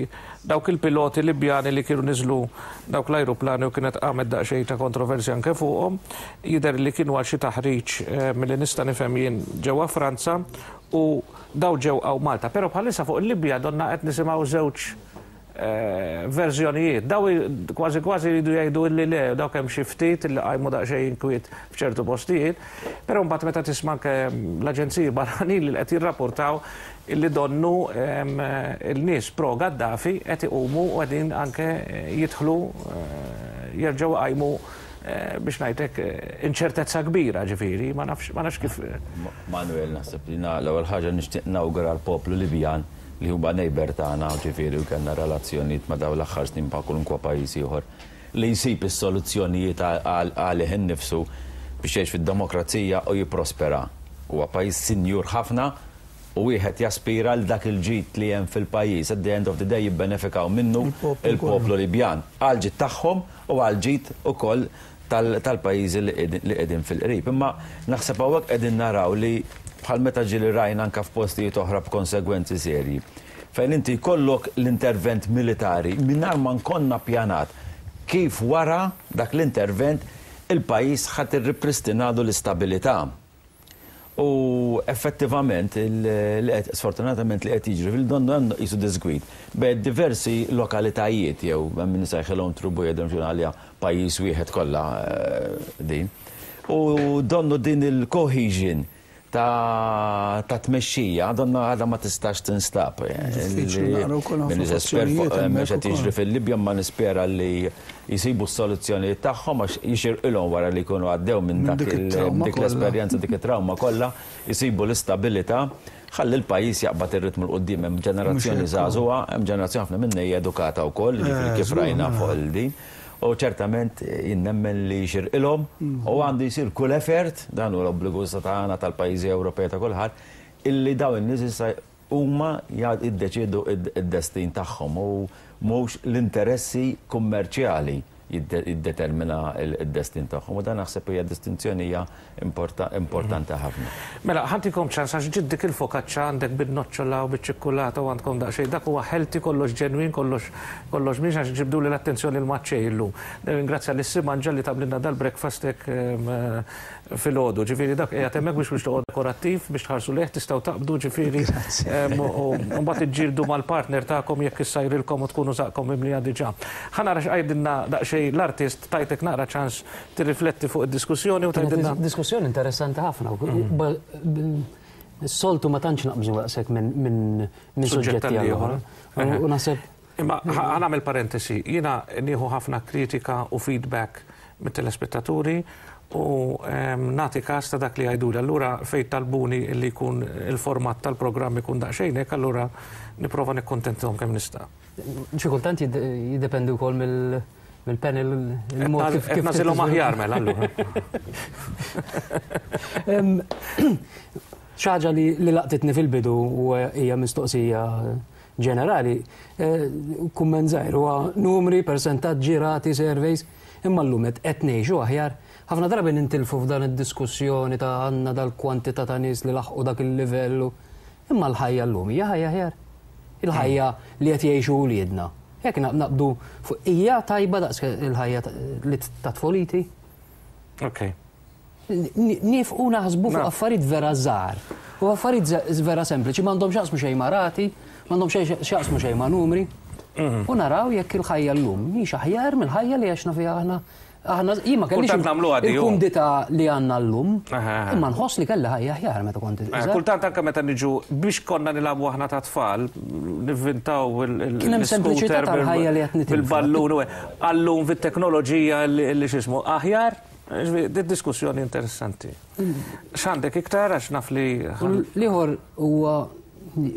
dawk il-piloti Libjani li kienu niżlu dawk l-ajruplani u kienet qamet daqsxejn ta' kontroversja anke fuqhom, jidher li kienu għal xi taħriġ milli nista' nifhem jien ġewwa Franza u daw ġew hawn Malta. Però bħalissa fuq il-Libja donna qed nisimgħu żewġ verżjonijiet. Daw kważi kważi jridu jgħidu illi le, dawk hemm xi ftit illi qajmu daqsxejn inkwiet f'ċertu postijiet, però mbagħad meta tisma' anke l-aġenziji barranin li qed jirrapportaw illi donnu il-nies pro Gaddafi qed iqumu u qegħdin anke jidħlu jerġgħu iqajmu biex ngħidlek inċertezza kbira, ġifieri, ma nafx ma nafx kif. Manuel, naħseb li l-ewwel ħaġa nixtieq nawgura l-poplu Libjan li huma neighbour tagħna, ġifieri u kellna relazzjonijiet ma' dawn l-aħħar snin bħal kwalunkwe pajjiż ieħor, li jsib is-soluzzjonijiet għalih innifsu biex jgħix fid-demokrazija u jipprospera. Huwa pajjiż sinjur ħafna u wieħed jaspira għal dak il-ġid li hemm fil-pajjiż. At the end of the day jibbenefikaw minnu l-poplu Libjan għall-ġid tagħhom u għall-ġid ukoll tal-pajjiżi li qegħdin fil-qrib. Imma naħseb hawnhekk qegħdin naraw li bħal meta ġieli rajna anke f'postijiet oħra b'konsegwenzi serji, fejn inti jkollok l-intervent militari mingħajr ma nkonna ppjanat kif wara dak l-intervent il-pajjiż ħa tirripristinagħlu l-istabilità. U effettivament li qed sfortunatament li qed jiġri fil-donnu hemm qisu diżgwid bejn diversi lokalitajiet jew hemm min isejħilhom tribu jew xi għaliha pajjiż wieħed kollha din. U donnu din il-cohesion ta' tmexxija donna għadha ma tistax tinstab. Diffiċli naqra wkoll ħafna M'iniex espert fuq x'qed jiġri fil-Libja imma nispera li jsibu s-soluzzjonijiet tagħhom għax jixirqilhom wara li jkunu għaddew minn dak dik l-esperjenza, dik it-trawma kollha, jsibu l-istabilità ħalli l-pajjiż jaqbad ir-ritmu 'l quddiem. Hemm ġenerazzjoni żagħżugħa, hemm ġenerazzjoni ħafna minnha hija edukata wkoll, jiġifieri kif rajna fuq il-din. U ċertament jien nemmen li jixirqilhom u għandu jsir kull effort, dan hu l-obbligu issa tagħna tal-pajjiżi Ewropej ta' kulħadd, illi dawn in-nies issa huma jiddeċiedu d-destin tagħhom u mhux l-interessi kummerċjali jiddetermina d-destin tagħhom. U dan naħseb hija distinzjoni hija importanti ħafna. Mela, ħa ntikom ċans għax ġiet dik il-fokaċċa għandek bin-noċċola u biċ-ċikkulata u għandkom daqsxejn. Dak huwa healthy, kollox ġenwin, kollox kollox mhix għax ġibduli l-attenzjoni l-maċċej illum. Nirringrazzja lis-Simanġa li tagħmlilna dal-breakfast hekk filgħodu. Ġifieri dak qiegħed hemmhekk biex biex toqgħod dekorattiv biex tħarsu lejh tistgħu taqbdu ġifieri u mbagħad iġġieldu mal-partner tagħkom jekk issajrilkom u tkunu żaqqkom mimlija diġà. Ħa nara x'qajdilna daqsxejn l-artist tajtek naqra ċans tirrifletti fuq id-diskussjoni u tgħidilna. Diskussjoni interessanti ħafna. Is-soltu ma tantx naqbżu daqshekk minn suġġetti għal ieħor. U naħseb Imma ħa nagħmel parentesi, jiena nieħu ħafna kritika u feedback mit-telespettaturi u nagħti każ ta' dak li jgħiduli. Allura fejn talbuni li jkun il-format tal-programm ikun daqsxejn hekk, allura nipprova nikkuntentahom kemm nista'. Xi kultant jiddependi wkoll mill-panel il-mod kif kif nagħżilhom aħjar mela allura. Xi ħaġa li laqtitni fil-bidu u hija mistoqsija ġenerali, kumment żgħir huwa numri, persentaġġi, rati, surveys, imma llum qed ngħixu aħjar. Ħafna drabi nintilfu f'dan id-diskussjoni ta' għandna dal-kwantità ta' nies li laħqu dak il-livell imma l-ħajja llum hija ħajja aħjar. Il-ħajja li qed jgħixu wliedna. Jekk naqbdu fuq hija tajba daqs il-ħajja li ta' tfuliti? Ok. Nifqu naħsbu fuq affarijiet vera żgħar. U affarijiet vera sempliċi m'għandhom x'jaqsmu xejn ma' rati, m'għandhom x'jaqsmu xejn ma' numri. U naraw jekk il-ħajja llum mhix aħjar mill-ħajja li għexna fiha aħna. Aħna jien ma kellix il-kumdità li għandna llum, imma nħoss li kelli ħajja aħjar meta kont iżgħar. Kultant anke meta niġu biex konna nilagħbu aħna ta' tfal, nivvintaw il- Kien hemm sempliċità tal-ħajja li qed nitilfu. Bil-ballun u għallum fit-teknoloġija li x'ismu aħjar. Ġifieri, diskussjoni interessanti. X'għandek iktar għax naf li. L-ieħor huwa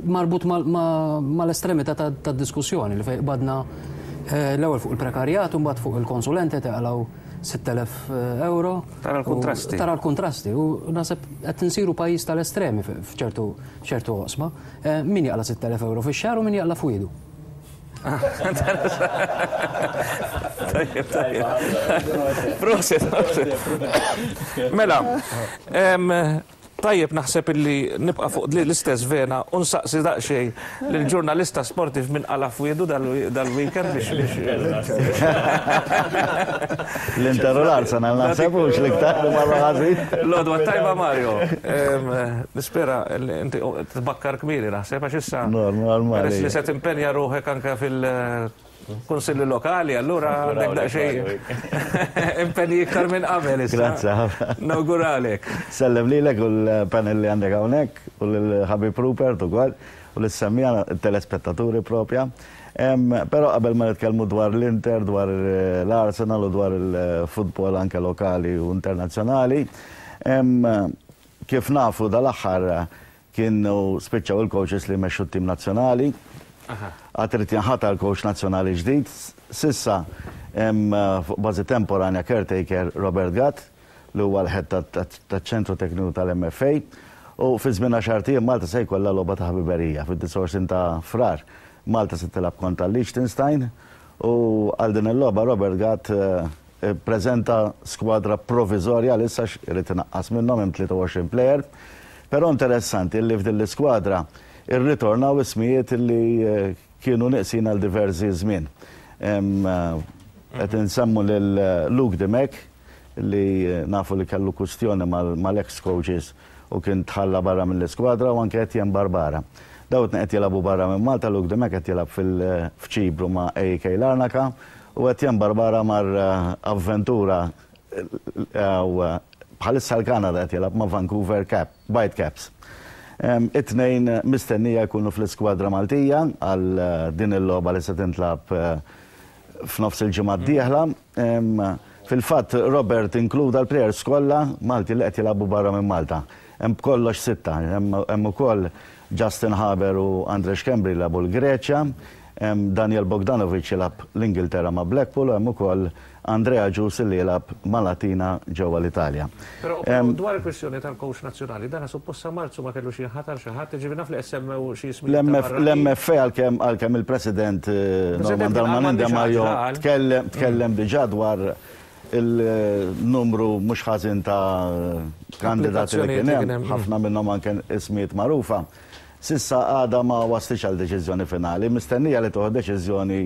marbut mal-estremità tad-diskussjoni li fejn qbadna eh, l-ewwel fuq il-prekarjat u mbagħad fuq il-konsulenti taqalgħu 6,000 eh, euro. Tara l-kontrasti. Tara l-kontrasti u naħseb qed insiru pajjiż tal-estremi f'ċertu ċertu oqsma. Eh, min jaqla 6,000 euro fix-xahar u min jaqla f'wiedu. Tajjeb, tajjeb. Proset, proset. Mela, tajjeb naħseb illi nibqa' fuq l-istess vena u nsaqsi daqsxejn lill-ġurnalista sportiv minn qala fwiedu dal-weekend biex. L-Inter u l-Arsenal naħseb hux l-iktar li marru ħażin. L-għodwa tajba Mario. Nispera li inti tbakkar kmieni naħseb għax issa. Normali. Peress li se timpenja ruħek anke fil-kunsilli lokali, allura għandek daqsxejn impenji iktar minn qabel issa. Grazzi ħafna. Nawguralek. Sellem lilek u l-panel li għandek hawnhekk u lill-ħabib Rupert ukoll u lis-semmiegħa telespettaturi propja. Però qabel ma nitkellmu dwar l-Inter, dwar l-Arsenal u dwar il-futbol anke lokali u internazzjonali, kif nafu dal-aħħar kienu spiċċaw il-coaches li jmexxu t-tim nazzjonali. Għad irid jinħatar coach nazzjonali ġdid. S'issa hemm fuq bażi temporanja caretaker Robert Gatt li huwa l-head taċ-ċentru tekniku tal-MFA u fi żmien għaxart ijiem Malta se jkollha logħba ta' ħbiberija fid-29 ta' Frar. Malta se tilgħab kontra Liechtenstein u għal din il-logħba Robert Gatt ippreżenta skwadra proviżorja għalissa għax irid inaqqas minnhom hemm 23 plejer. Però interessanti li f'din l-iskwadra rritornaw ismijiet li kienu neqsin għal diversi żmien. Qed insemmu lil Luke Dimech li nafu li kellu kwistjoni mal-ex coaches u kien tħalla barra mill-iskwadra u anke Etienne Barbara. Dawn it-tnejn qed jilagħbu barra minn Malta, Luke Dimech qed jilgħab f'Ċipru ma' AEK Larnaca u Etienne Barbara mar avventura bħalissa l-Kanada qed jilgħab ma' Vancouver Whitecaps. It-tnejn mistennija jkunu fl-iskwadra Maltija għal din il-logħba li se tintlagħab f'nofs il-ġimgħa d-dieħla. Fil-fatt Robert inkluda l-plejers kollha Malti li qed jilagħbu barra minn Malta. Hemm b'kollox sitta. Hemm ukoll Justin Haber u Andre Schembri jilagħbu l-Greċja, hemm Daniel Bogdanovic jilgħab l-Ingilterra ma' Blackpool u hemm ukoll Andrea Agius li jilgħab ma' Latina ġewwa l-Italja. Però dwar il-kwistjoni tal-coach nazzjonali, dan suppost sa Marzu ma kellux jinħatar xi ħadd, jiġifieri naf li qed semmew xi ismijiet ta' barranin. L-MFA għalkemm il-President Norman Darmanin Demajo tkellem tkellem diġà dwar il-numru mhux ħażin ta' kandidati li kien hemm, ħafna minnhom anke ismijiet magħrufa. S'issa għadha ma waslitx għal deċiżjoni finali, mistennija li tieħu deċiżjoni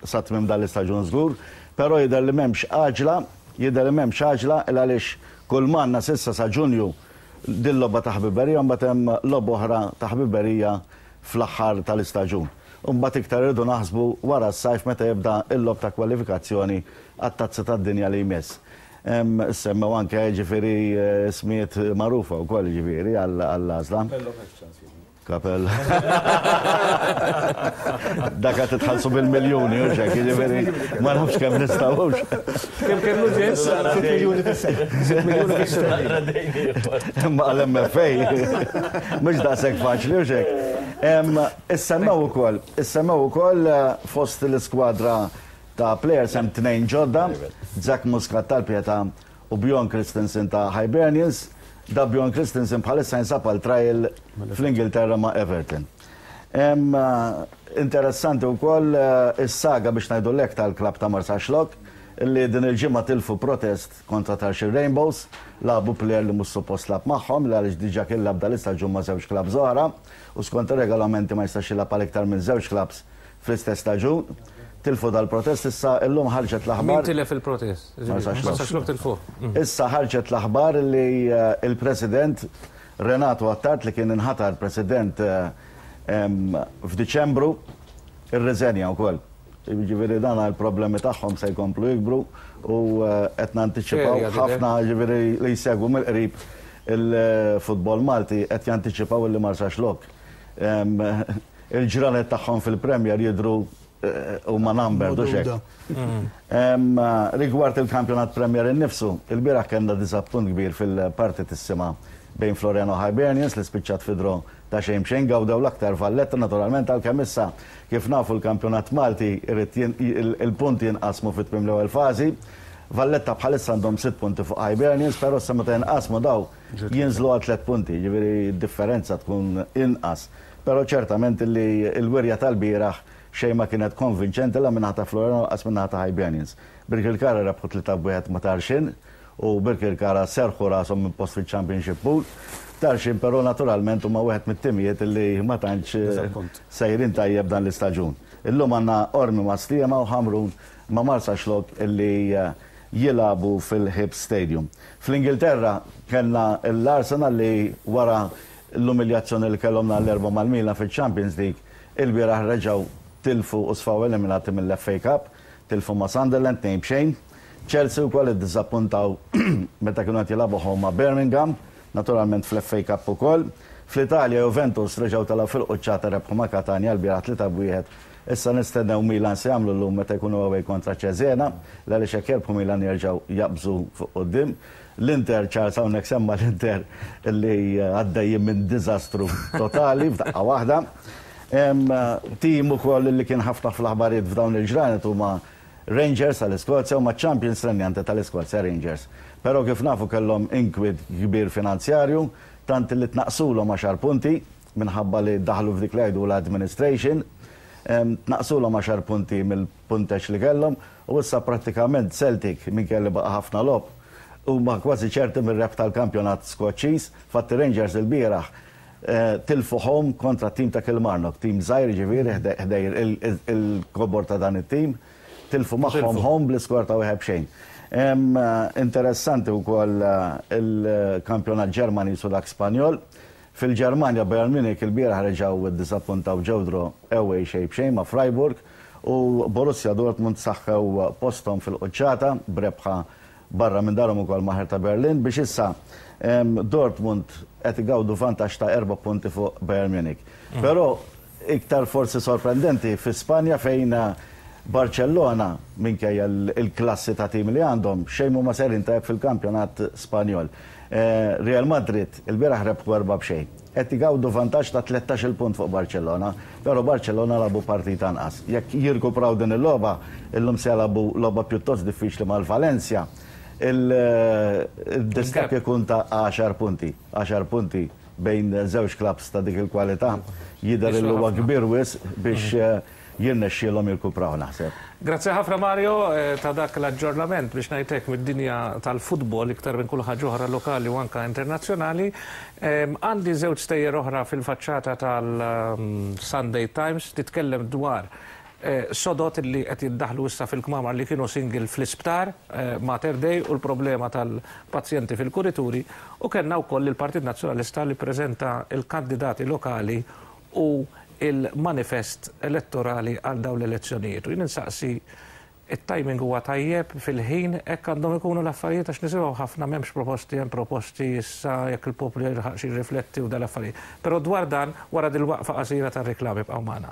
sa tmiem dan l-istaġun żgur, però jidher li m'hemmx għaġla, jidher li m'hemmx għaġla il għaliex kull m'għandna s'issa sa Ġunju din logħba ta' ħbiberija u mbagħad hemm logħba oħra ta' ħbiberija fl-aħħar tal-istaġun. U mbagħad iktar irridu naħsbu wara s-sajf meta jibda l-logħob ta' kwalifikazzjoni għat-Tazza tad-Dinja li jmiss. Semmew anke jiġifieri ismijiet magħrufa wkoll jiġifieri għall-għażla. Kapell. Dak qed titħallsu bil-miljuni u xek, jiġifieri ma nafx kemm nistgħux. Kemm kellu ġess? 6 miljuni fis-sena. 6 miljuni fis-sena. Imma għall-MFA mhux daqshekk faċli u xek. Issemmew ukoll, issemmew ukoll fost l-iskwadra ta' players hemm tnejn ġodda, Zach Muscat tal-Pietà u Bjorn Kristensen ta' Hibernians. Da Bjorn Kristensen bħalissa jinsab għal trial fl-Ingilterra ma' Everton. Interessanti wkoll is-saga biex ngħidu l-hekk tal-klabb ta' Marsaxlokk li din il-ġimgħa tilfu protest kontra Tarxien Rainbows. Lagħbu plejer li mhux suppost lagħab magħhom li għaliex diġà kien lagħab dal-istaġun ma' żewġ klabbs oħra u skont ir-regolamenti ma jistax jilgħab għal iktar minn żewġ klabbs fl-istess staġun. Tilfu dal-protest issa illum ħarġet l-aħbar. Min tilef il-protest? Marsaxlokk tilfuh. Issa ħarġet l-aħbar li l-President Renato Attard li kien inħatar President f'Diċembru irriżenja wkoll. Jiġifieri dan il-problemi tagħhom se jkomplu jikbru u qed nantiċipaw ħafna jiġifieri li jsegwu mill-qrib il-futbol Malti qed jantiċipaw li Marsaxlokk il-ġranet tagħhom fil-Premier jidhru. huma numbered hux hekk. Rigward il-kampjonat Premier innifsu, ilbieraħ kellna diżappunt kbir fil-partitissima bejn Floriana u Hibernians li spiċċat fi draw ta' xejn b'xejn. Gawdew l-aktar Valletta naturalment għalkemm issa kif nafu l-kampjonat Malti jrid il-punti jinqasmu fi tmiem l-ewwel fażi. Valletta bħalissa għandhom sitt punti fuq Hibernians però issa meta jinqasmu daw jinżlu għal tlett punti, jiġifieri d-differenza tkun inqas. Però ċertament li l-wirja tal-bieraħ xejn ma kienet konvinċenti la min-naħa ta' Floriana u lanqas min-naħa ta' Hibernians. Birkirkara rebħu 3 b'wieħed ma' Tarxien u Birkirkara serrħu rashom minn post fiċ-Championship Pool. Tarxien però naturalment huma wieħed mit-timijiet li ma tantx sejrin tajjeb dan l-istaġun. Illum għandna Qormi ma' Sliema u Ħamrun ma' Marsaxlokk li jilagħbu fil-Hibs Stadium. Fl-Ingilterra kellna l-Arsenal li wara L-umiljazzjoni li kellhom nhar l-Erbgħa mal-Milan fiċ-Champions League, ilbieraħ reġgħu tilfu u sfaw eliminati mill-FA Cup. Tilfu ma' Sunderland 2-0. Chelsea wkoll iddiżappuntaw meta kienu qed jilagħbu home ma' Birmingham, naturalment fl-FA Cup ukoll. Fl-Italja Juventus reġgħu telgħu fil-quċċata rebħu ma' Catania lbieraħ 3-1. Issa nistennew Milan se jagħmlu llum meta jkunu away kontra Cesena, l-għaliex jekk jerbħu Milan jerġgħu jaqbżu fuq quddiem. L-Inter, Charles hawnhekk semma l-Inter li għaddejjin minn diżastru totali f'daqqa waħda. Tim ukoll li kien ħafna fl-aħbarijiet f'dawn il-ġranet huma Rangers tal-Iskozja huma ċ-champions renjanti tal-Iskozja Rangers. Però kif nafu kellhom inkwiet kbir finanzjarju tant li tnaqqsulhom għaxar punti minħabba li daħlu f'dik li jgħidulha administration. Tnaqqsulhom għaxar punti mill-punteġġ li kellhom U issa prattikament Celtic, minkejja li baqa' ħafna logħob, huma kważi ċerti mir-rebħ tal-kampjonat Skoċċiż. Fatti Rangers ilbieraħ tilfu home kontra t-tim ta' Kilmarnock, tim żgħir jiġifieri ħdejn il-kobor ta' dan it-tim. Tilfu magħhom home bl-iskor ta' wieħed b'xejn. Interessanti wkoll il-kampjonat Ġermaniż u dak Spanjol. Fil-Ġermanja, Bayern Munich ilbieraħ reġgħu ddiżappuntaw ġew draw away xejn b'xejn ma' Freiburg u Borussia Dortmund saħħew posthom fil-quċċata b'rebħa barra minn darhom ukoll ma' Hertha Berlin biex issa Dortmund qed igawdu vantaġġ ta' erba' punti fuq Bayern Munich. Però iktar forsi sorprendenti fi Spanja fejn Barcellona minkejja l-klassi ta' tim li għandhom xejn m'huma sejrin tajjeb fil-kampjonat Spanjol. Real Madrid ilbieraħ rebħu erbgħa b'xejn. Qed igawdu vantaġġ ta' 13-il punt fuq Barcellona, però Barcellona lagħbu partita anqas. Jekk jirkupraw din il-logħba, illum se jilagħbu logħba pjuttost diffiċli mal-Valencia, il-distakk ikun ta' għaxar punti. Għaxar punti bejn żewġ klabbs ta' dik il-kwalità jidher li huwa kbir wisq biex jirnexxielhom jirkupraw naħseb. Grazzi ħafna Mario ta' dak l-aġġornament biex ngħid hekk mid-dinja tal-futbol iktar minn kull ħaġa oħra lokali u anke internazzjonali. Għandi żewġ stejjer oħra fil-faċċata tal-Sunday Times titkellem dwar sodod li qed jiddaħħlu issa fil-kmamar li kienu single fl-isptar Mater Dei u l-problema tal-pazjenti fil-kurituri u kellna wkoll il-Partit Nazzjonalista li ppreżenta l-kandidati lokali u il-manifest elettorali għal dawn l-elezzjonijiet. U jien insaqsi it-timing huwa tajjeb fil-ħin hekk għandhom ikunu l-affarijiet għax nisimgħu ħafna m'hemmx proposti hemm proposti issa jekk il-poplu jilħaqx jirrifletti u dal-affarijiet. Però dwar dan wara dil-waqfa qasira tar-riklami ibqgħu magħna.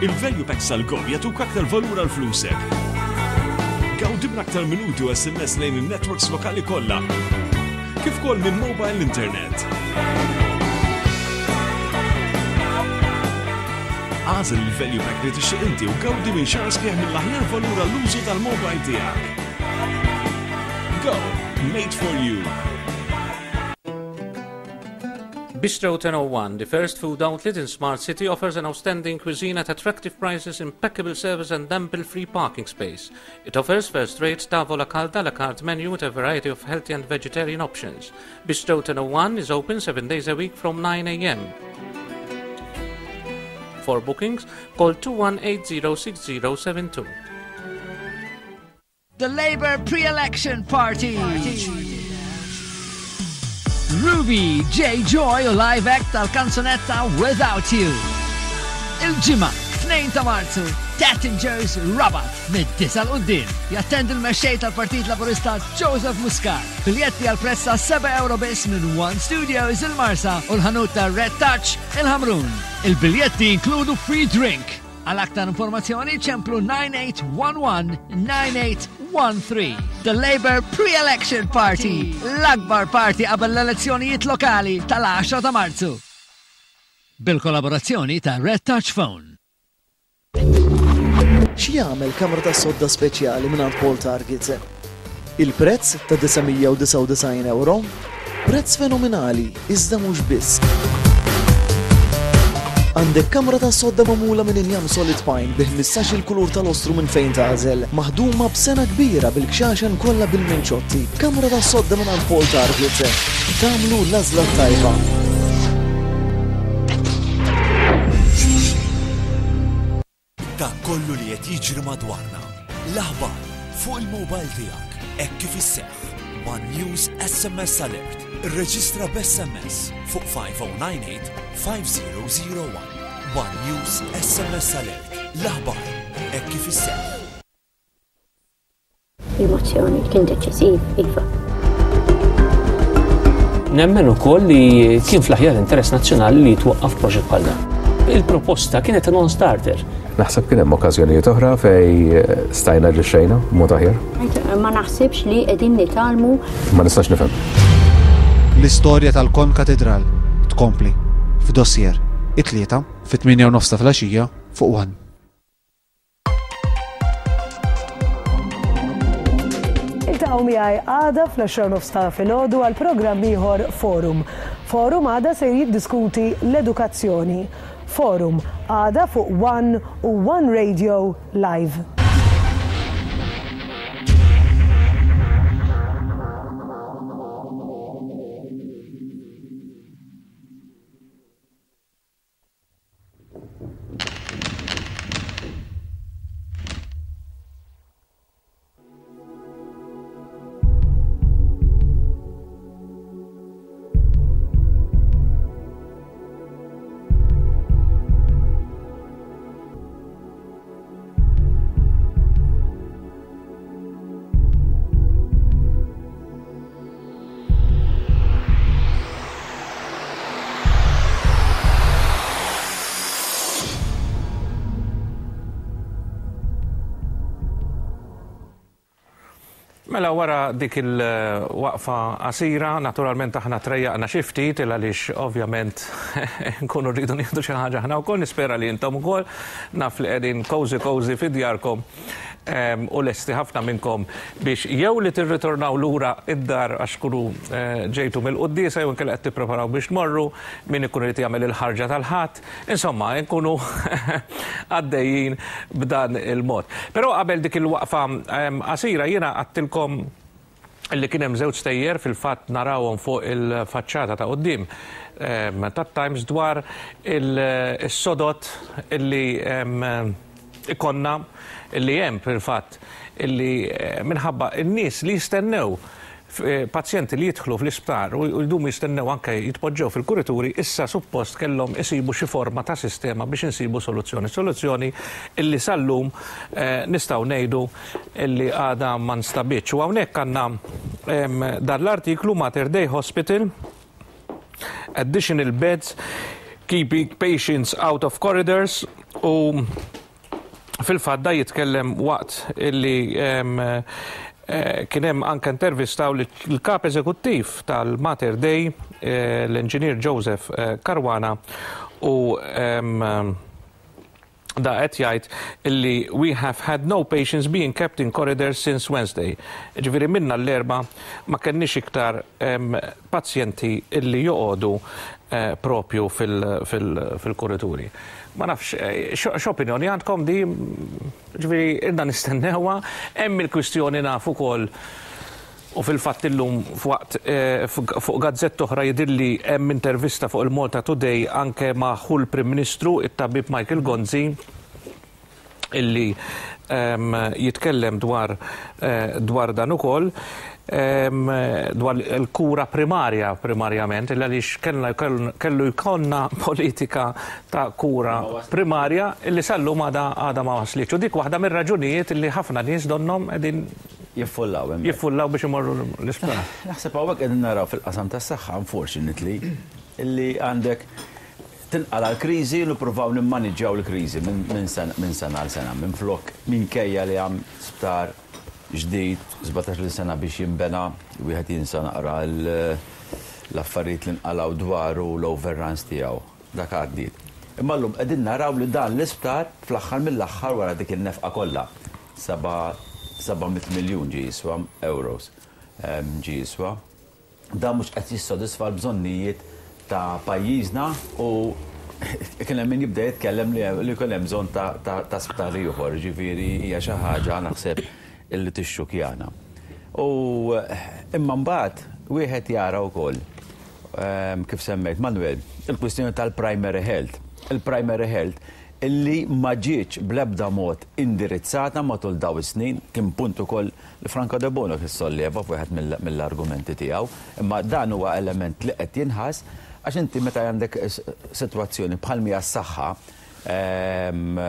Il-Value Packs tal-Gov jagħtuk aktar valur għal flusek. Gawdi minn aktar minuti u SMS lejn in-networks lokali kollha. Kif ukoll minn mobile internet. Għażel il-value pack li tixtieq inti u gawdi minn xahar sħiħ mill-aħjar valur għall-użu tal-mobile tiegħek. Go, made for you. Bistro 1001, the first food outlet in Smart City, offers an outstanding cuisine at attractive prices, impeccable service and ample free parking space. It offers first-rate tavola calda la carte menu with a variety of healthy and vegetarian options. Bistro 1001 is open seven days a week from 9 a.m. For bookings, call 21806072. The Labour pre-election party. Ruby J. Joy u live act tal-kanzunetta Without You. Il-ġimgħa, 2 ta' Marzu. Tattingers Rabat mid-disa 'l quddiem. Jattendi l-mexxej tal-Partit Laburista Joseph Muscat. Biljetti għal prezz ta' 7 euro biss minn One Studios il-Marsa u l-ħanut ta' Red Touch il-Ħamrun. Il-biljetti jinkludu free drink. Għal aktar informazzjoni ċemplu 9811-9813. The Labour Pre-Election Party, l-akbar party qabel l-elezzjonijiet lokali tal-10 ta' Marzu. Bil-kollaborazzjoni ta' Red Touch Phone. X'jagħmel kamra tas-sodda speċjali mingħand Paul Target? Il-prezz ta' 999 ewro? Prezz fenomenali, iżda mhux biss. Għandek kamra tas-sodda magħmula minn injam solid pine bi 15-il kulur tal-ostru minn fejn tagħżel, maħduma b'sengħa kbira bil-kxaxen kollha bil-minċotti. Kamra tas-sodda mingħand Paul Target. Tagħmlu l-għażla t-tajba. Dak kollu li qed jiġri madwarna. L-aħbar fuq il-mobile tiegħek hekk kif isseħħ. One News SMS Alert. Irreġistra b'SMS fuq 5098 5001. One News SMS Alert. L-aħbar hekk kif isseħħ. Il-mozzjoni kien deċiżiv, iva. Nemmen ukoll li kien fl-aħjar interess nazzjonali li jitwaqqaf proġett bħal dan. Il-proposta kienet non-starter. Naħseb kien hemm okkażjonijiet oħra fejn stajna aġixxejna b'mod aħjar. Ma naħsibx li qegħdin nitgħallmu. Ma nistax nifhem. L-istorja tal-Kon Katidral tkompli f'Dossier, it-Tlieta, fit-tmienja u nofs ta' filgħaxija fuq one. Iltaqgħu miegħi għada fl-10 nofs ta' filgħodu għal programm ieħor Forum. Forum għada se jiddiskuti l-edukazzjoni. Forum għada fuq One u One Radio Live. Mela wara dik il-waqfa qasira, naturalment aħna trejjaqna xi ftit il għaliex ovvjament nkunu rridu nieħdu xi ħaġa aħna wkoll, nispera li intom ukoll naf li qegħdin cozy cozy fi djarkom u lesti ħafna minnkom biex jew li tirritornaw lura id-dar għax tkunu eh, ġejtu mill-quddiesa jew inkella qed tippreparaw biex tmorru, min ikun irid jagħmel il-ħarġa tal-Ħadd, insomma, nkunu għaddejjin b'dan il-mod. Però qabel dik il-waqfa qasira jiena għattilkom li kien hemm żewġ stejjer fil-fatt narawhom fuq il-faċċata ta' quddiem tat-Times dwar is-sodod illi ikollna li hemm fil-fatt illi minħabba n-nies li jistennew pazjenti li jidħlu fl-isptar u jdumu jistennew anke jitpoġġew fil-kurituri issa suppost kellhom isibu xi forma ta' sistema biex insibu soluzzjoni. Soluzzjoni illi sal-lum nistgħu ngħidu illi għadha ma nstabitx. U hawnhekk għandna dan l-artiklu Mater Dei Hospital additional beds keeping patients out of corridors u fil-fatt da jitkellem waqt illi eh, kien hemm anke intervistaw l-kap eżekuttiv tal-Mater Dei eh, l-inġinier Joseph eh, Caruana u Da qed jgħid illi we have had no patients being kept in corridors since Wednesday. Ġifieri minna l-Erbgħa ma kellniex iktar pazjenti illi joqogħdu eh, propju fil-kurituri. Ma nafx, eh, x'opinjoni għandkom di, ġifieri irna nistennewha, hemm il-kwistjoni naf ukoll U fil-fatt illum f'waqt fuq gazzetta oħra jidhirli hemm intervista fuq il-Malta Today anke ma' ħu l-Prim Ministru, it-Tabib Michael Gonzi, illi jitkellem dwar dwar dan ukoll. Dwar il-kura primarja primarjament, illa għaliex kellna kellu jkollna politika ta' kura primarja illi sal-lum għadha għadha ma waslitx. U dik waħda mir-raġunijiet illi ħafna nies donnhom qegħdin jiffullaw hemmhekk. Jiffullaw biex imorru l-isptar. Naħseb hawnhekk qegħdin naraw fil-qasam tas-saħħa unfortunately illi għandek tinqala' l-kriżi u nippruvaw nimmaniġġjaw l-kriżi minn sena għal sena minflok minkejja li hemm sptar ġdid, 17-il sena biex jinbena, wieħed jinsa naqra l-affarijiet li nqalgħu dwaru u l-overruns tiegħu. Dak għaddiet. Imma llum qegħdin naraw li dan l-isptar fl-aħħar mill-aħħar wara dik in-nefqa kollha, 700 miljun ġie jiswa, euros ġie jiswa, Dan mhux qed jissodisfa l-bżonnijiet ta' pajjiżna u kien hemm min jibda jitkellem li jkun hemm bżonn ta' sptar ieħor, jiġifieri hija xi ħaġa naħseb illi tixxukjana. U imma mbagħad wieħed jara wkoll kif semmejt Manuel, il-kwistjoni tal-primary health. Il-primary health illi ma ġietx bl-ebda mod indirizzata matul dawn is-snin, kien punt ukoll li Franco Debono kien solleva f'wieħed mill-argumenti tiegħu, imma dan huwa element li qed jinħass għax inti meta għandek sitwazzjoni bħal mhi s-saħħa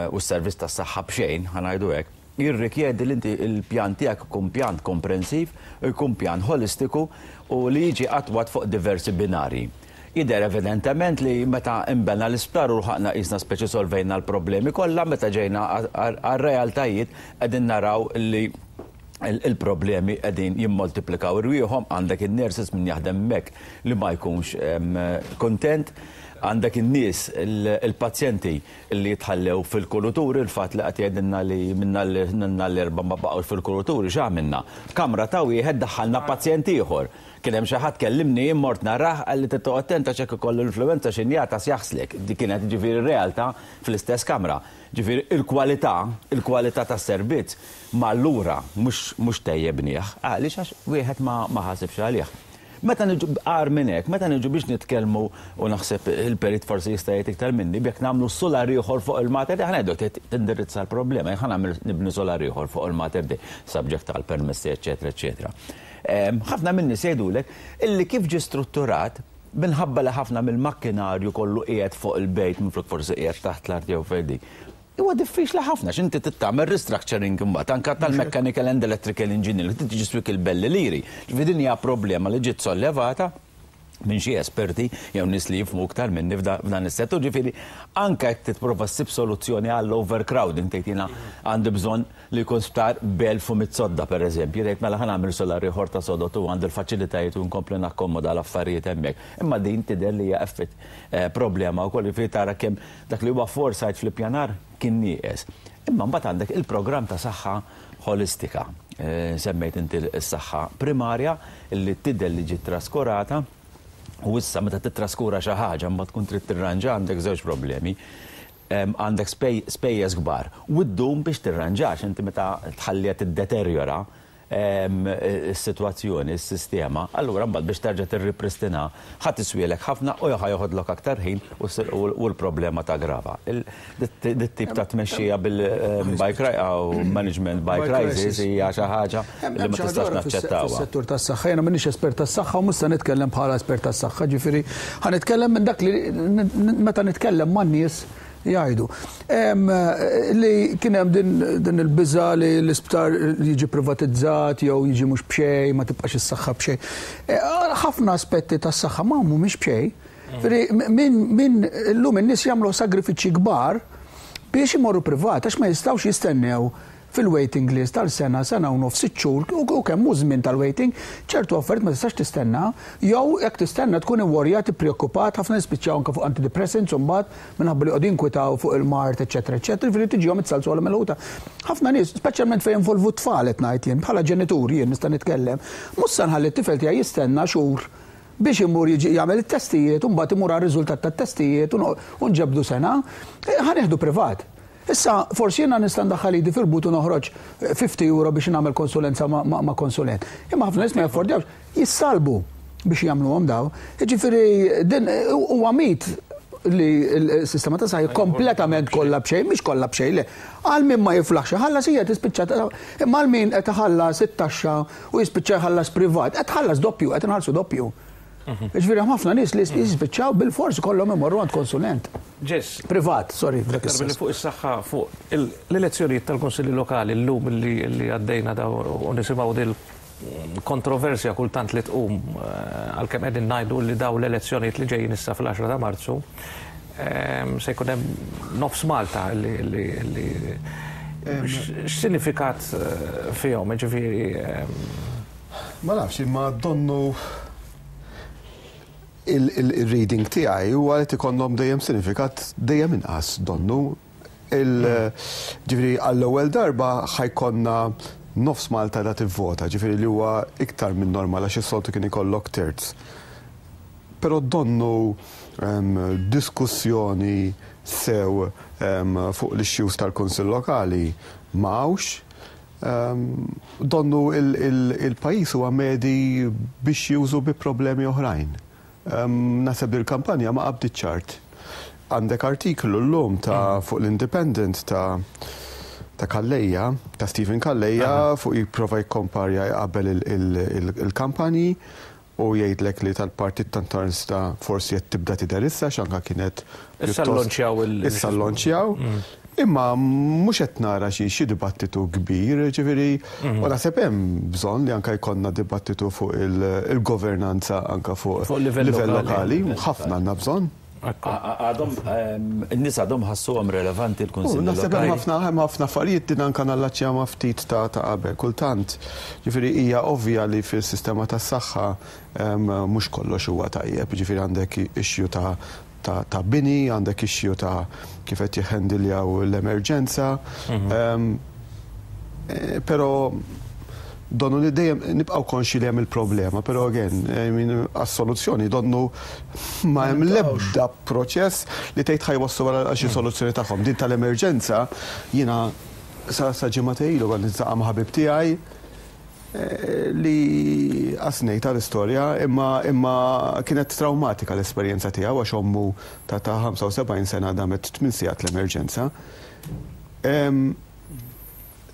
u s-servizz tas-saħħa b'xejn, ħa ngħidu hekk, jirrikjedi li inti l-pjan tiegħek ikun pjan komprensiv u jkun pjan ħolistiku u li jiġi attwat fuq diversi binarji. Jidher evidentement li meta nbena l-isptar u lħaqna qisna speċi solvejna l-problemi kollha, meta ġejna għar-realtajiet qegħdin naraw li l-problemi qegħdin jimmoltiplikaw irwieħhom, għandek in-nurses min jaħdem hemmhekk li ma jkunx kuntent, għandek in-nies, il-pazjenti li jitħallew fil-kuruturi, il-fatt li qed jgħidilna li minn nhar l-Erbgħa ma baqgħux fil-kuruturi, x'għamilna? F'kamra ta' wieħed daħħalna pazjent ieħor. Kien hemm xi ħadd kellimni jien mort narah qalli trid toqgħod attent għax jekk ikollu l-influwenza xi njata jaħslek. Dik kienet jiġifieri r-realtà fl-istess kamra. Ġifieri il-kwalità, il-kwalità tas-servizz mar lura mhux mhux tejjebnieh. Għaliex għax wieħed ma ma ħasibx għalih. Meta niġu agħar minn hekk, meta niġu biex nitkellmu u naħseb il-perit forsi jista' jgħid iktar minni, b'jekk nagħmlu sular ieħor fuq il-Mater Dei, ħa ngħidu trid tindirizza l-problema, jekk ħa nagħmel nibni sular ieħor fuq il-Mater Dei, subject għall-permessi eċċetera eċċetera. Ħafna min-nies jgħidulek illi kif ġie strutturat, minħabba li ħafna mill-makkinarju kollu qiegħed fuq il-bejt minflok forsi qiegħed taħt l-art jew fejn dik. Huwa diffiċli ħafna għax inti trid tagħmel restructuring imbagħad anke tal-mechanical and electrical engineering, trid tiġi swik il-belli liri. Ġifieri din hija problema li ġiet sollevata minn xi esperti jew nies li jifhmu iktar minni f'dan is-settur. Ġifieri anke jekk titprova ssib soluzzjoni għall-overcrowding tgħid jiena għandi bżonn li jkun sptar b'1100 sodda pereżempju, tgħid mela ħa nagħmel sular ieħor ta' sodod u għandi l-faċilitajiet u nkompli nakkomoda l-affarijiet hemmhekk. Imma din tidher li hija effett problema wkoll, jiġifieri tara kemm dak li huwa foresight fl-ippjanar kien nieqes. Imma mbagħad għandek il-programm ta' saħħa ħolistika. Semmejt inti s-saħħa primarja li tidher li ġiet traskurata u issa meta tittraskura xi ħaġa mbagħad tkun trid tirranġa għandek żewġ problemi. Għandek spejjeż kbar u ddum biex tirranġa għax inti meta tħalliha tiddeterjora is-sitwazzjoni, is-sistema, allura mbagħad biex terġa' tirripristinha ħa tiswielek ħafna u ħa joħodlok aktar ħin u l-problema taggrava. Dit-tip ta' tmexxija bil by management by crisis hija xi ħaġa li ma tistax naċċettawha. Fis-settur tas-saħħa, jiena m'iniex espert tas-saħħa u mhux se nitkellem bħala espert tas-saħħa, ġifieri ħa nitkellem minn dak li meta nitkellem man-nies jgħidu. Li kien hemm din il-biża' li l-isptar jiġi privatizzat jew jiġi mhux b'xejn, ma tibqax is-saħħa b'xejn. Ħafna aspetti tas-saħħa ma mhumiex b'xejn. Min illum in-nies jagħmlu sagrifiċċji kbar biex imorru privat għax ma jistgħux jistennew fil-waiting list għal sena, sena u nofs, sitt xhur, u kemm hu żmien tal-waiting, ċertu affarijiet ma tistax tistenna, jew jekk tistenna tkun iworjat, ippreokkupat, ħafna jispiċċaw anke fuq antidepressants imbagħad minħabba li joqogħdu jinkwitaw fuq il-mard, eċċetera, eċċetera, jiġifieri tiġihom it-salzola milħuta. Ħafna nies, speċjalment fejn jinvolvu t-tfal qed ngħid jien, bħala ġenitur jien nista' nitkellem, mhux se nħalli t-tifel tiegħi jistenna xhur biex imur jiġi jagħmel it-testijiet u mbagħad imur għar-riżultat tat-testijiet u nġebbdu sena, ħa nieħdu privat. Issa, forsi jiena nista' ndaħħal idi fil-but u noħroġ 50 euro biex nagħmel konsulenza ma' konsulent. Imma ħafna nies ma jaffordjawx, jissalbu biex jagħmluhom dawn. Jiġifieri din huwa mit. li l-sistema ta' saħħa kompletament kollha b'xejn, mhix kollha b'xejn, le. Għal min ma jiflaħx iħallas hija tispiċċa imma għal min qed iħallas it-taxxa u jispiċċa jħallas privat, qed tħallas doppju, qed inħallsu doppju. Ġifieri hemm ħafna nies li jispiċċaw bil-fors ikollhom imorru għand konsulent. Ġess. Privat, sorry. Iktar milli fuq is-saħħa, fuq l-elezzjonijiet tal-Kunsilli Lokali llum li għaddejna daw u nisimgħu dil kontroversja kultant li tqum għalkemm qegħdin ngħidu li daw l-elezzjonijiet li ġejjin issa fl-10 ta' Marzu se jkun hemm nofs Malta li x'sinifikat fihom, ġifieri. Ma nafx, imma donnu il-reading tiegħi huwa li ikollhom dejjem sinifikat dejjem inqas donnu. Ġifieri għall-ewwel darba ħa jkollna nofs Malta da tivvota, ġifieri li huwa iktar minn normal għax is-soltu kien ikollok terz. Però donnu diskussjoni sew fuq l-issues tal-Kunsill Lokali ma hawnx. Donnu il-pajjiż huwa medi biex jużu bi problemi oħrajn. Naħseb li l-kampanja ma qabditx art. Għandek artiklu llum ta' fuq l-Independent ta' ta' Calleja, ta' Stephen Calleja fuq jipprova jikkomparja jqabbel il-kampanji u jgħidlek li tal-Partit Nazzjonalista forsi qed tibda tidher issa għax anke kienet Issa llonċjaw il- Issa llonċjaw. Imma mhux qed nara xi xi dibattitu kbir, ġifieri u naħseb hemm bżonn li anke jkollna dibattitu fuq il-governanza anke fuq livell lokali. Ħafna għandna bżonn. Għadhom, in-nies għadhom ħassuhom relevanti l-Kunsilli Lokali. Naħseb hemm ħafna hemm ħafna affarijiet din anke nallaċċja ma' ftit ta' qabel. Kultant, ġifieri hija ovvja li fis-sistema tas-saħħa mhux kollox huwa tajjeb, ġifieri għandek issue ta' ta' bini, għandek issue ta' kif qed jihhandiljaw l-emerġenza. Però donnu li dejjem nibqgħu konxi li hemm il-problema, però again, I mean, għas-soluzzjoni donnu ma hemm l-ebda proċess li tgħid ħa jwasslu għal xi soluzzjoni tagħhom. Din tal-emerġenza jiena sa sa ġimgħa ilu kont niltaqa' ma' ħabib tiegħi li qas ngħid l-istorja imma imma kienet traumatika l-esperjenza tiegħu għax ommu ta' ta' 75 sena damet 8 sigħat l-emerġenza.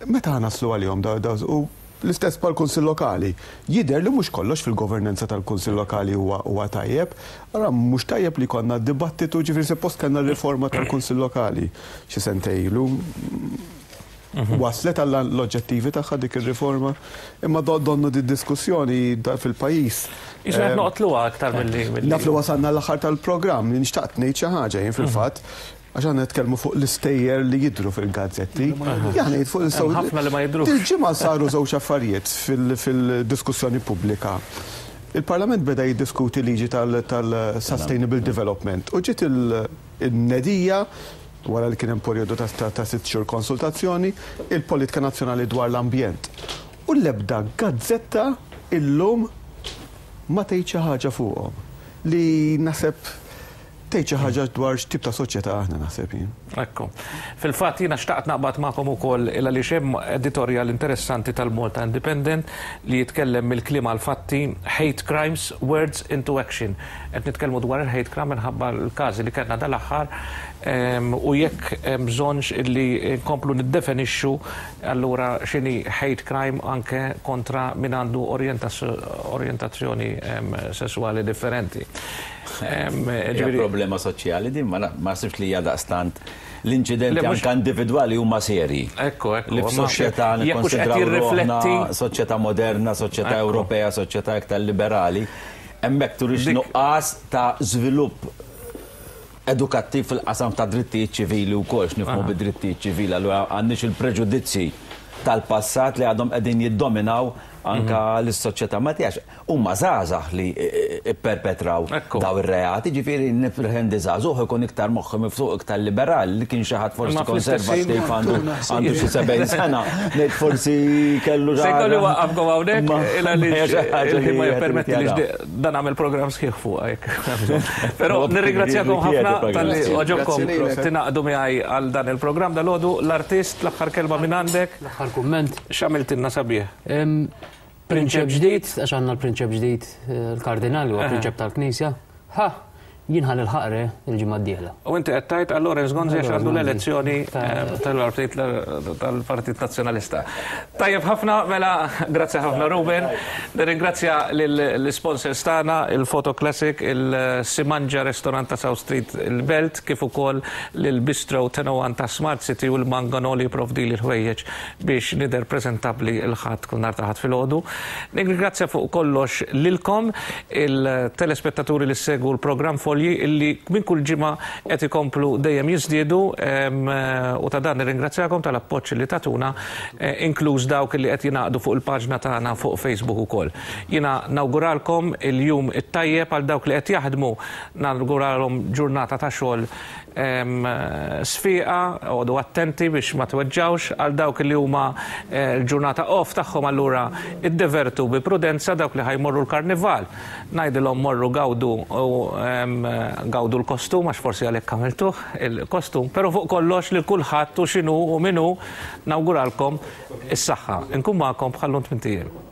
Meta naslu għalihom da, da, u l-istess pal kunsill lokali. Jidher li mhux kollox fil-governanza tal-kunsill lokali huwa huwa tajjeb. Allora mhux tajjeb li konna dibattitu ġifieri suppost kellna riforma tal-kunsill lokali xi sentejn ilu. Waslet għall l-oġġettivi tagħha dik ir-riforma, imma donnu di diskussjoni fil-pajjiż. Issa qed noqtluha aktar milli. Naf li wasalna l-aħħar tal-programm, li nixtaqt ngħid xi ħaġa jien fil-fatt. Għax aħna nitkellmu fuq l-istejjer li jidhru fil-gazzetti. Jien ngħid fuq l Ħafna li ma jidhrux. Il-ġimgħa saru żewġ affarijiet fil-diskussjoni pubblika. Il-Parlament beda jiddiskuti liġi tal-Sustainable Development u ġiet il-nedija wara li kien hemm perjodu ta' 6 xhur konsultazzjoni, il-politika nazzjonali dwar l-ambjent. U l-ebda gazzetta illum ma tgħid xi ħaġa fuqhom li naħseb tgħid xi ħaġa dwar x'tip ta' soċjetà aħna naħseb jien. Ekku. Fil-fatt jiena xtaqt naqbad magħkom ukoll il għaliex hemm editorjal interessanti tal-Malta Independent li jitkellem mill-kliem għal fatti Hate Crimes, Words into Action. Qed nitkellmu dwar il-hate crime minħabba l-każi li kellna dal-aħħar u jekk hemm bżonnx illi nkomplu niddefinixxu allura x'inhi hate crime anke kontra min għandu orjentazzjoni sesswali differenti. Hija problema soċjali din ma naħsibx li hija daqstant l-inċidenti anke individwali huma serji. Ekku, ekku. Li f'soċjetà nikkonsidraw ruħna soċjetà moderna, soċjetà Ewropea, soċjetà iktar liberali, hemmhekk turix nuqqas ta' żvilupp edukattiv fil-qasam ta' drittijiet ċivili wkoll, x'nifhmu bid-drittijiet ċivili, allura għandniex il-preġudizzji tal-passat li għadhom qegħdin jiddominaw anka lis-soċjetà Maltija. Huma żgħażagħ li pperpetraw daw ir-reati, ġifieri nippretendi żagħżugħ ikun iktar moħħu miftuħ, iktar liberali, li kien xi ħadd forsi konservattiv għandu għandu xi 70 sena, ngħid forsi kellu Se jkolli waqqafkom hawnhekk il għaliex il-ħin ma jippermettilix dan nagħmel programm sħiħ fuqha jekk. Però nirringrazzjakom ħafna talli għoġobkom tingħaqdu miegħi għal dan il-programm dalgħodu. L-artist, l-aħħar kelma minn għandek. L-aħħar kumment. X'għamiltilna sabiħ? Prinċep ġdid, għax għandna l-prinċep ġdid, il-kardinal huwa prinċep tal-Knisja. Ha! Jien ħa nilħaq re l-ġimgħa d-dieħla. U inti qed tgħid għal Lawrence Gonzi għax għandu l-elezzjoni tal-Partit tal-Partit Nazzjonalista. Tajjeb ħafna, mela grazzi ħafna Ruben. Nirringrazzja lill-sponsors tagħna, il-Photo Classic, il-Simanja Restaurant ta' South Street il-Belt, kif ukoll lil Bistro 1001 ta' Smart City u l-Mangano li jipprovdili l-ħwejjeġ biex nidher preżentabbli l-Ħadd kull nhar ta' Ħadd filgħodu. Nirringrazzja fuq kollox lilkom il-telespettaturi li ssegwu l-programm Folji illi minn kull ġimgħa qed ikomplu dejjem jiżdiedu u ta' dan nirringrazzjakom tal-appoġġ li tagħtuna inkluż dawk li qed jingħaqdu fuq il-paġna tagħna fuq Facebook ukoll. Jiena nawguralkom il-jum it-tajjeb għal dawk li qed jaħdmu nawguralhom ġurnata ta' xogħol sfiqa, oqogħdu attenti biex ma tweġġgħux, għal dawk li huma l-ġurnata off tagħhom allura iddevertu bi prudenza, dawk li ħa jmorru l-karnival ngħidilhom morru gawdu u gawdu l-kostum għax forsi għalhekk għamiltuh il-kostum, però fuq kollox lil kulħadd u x'inhu u min hu nawguralkom is-saħħa. Inkun magħkom bħal-lum tmint ijiem.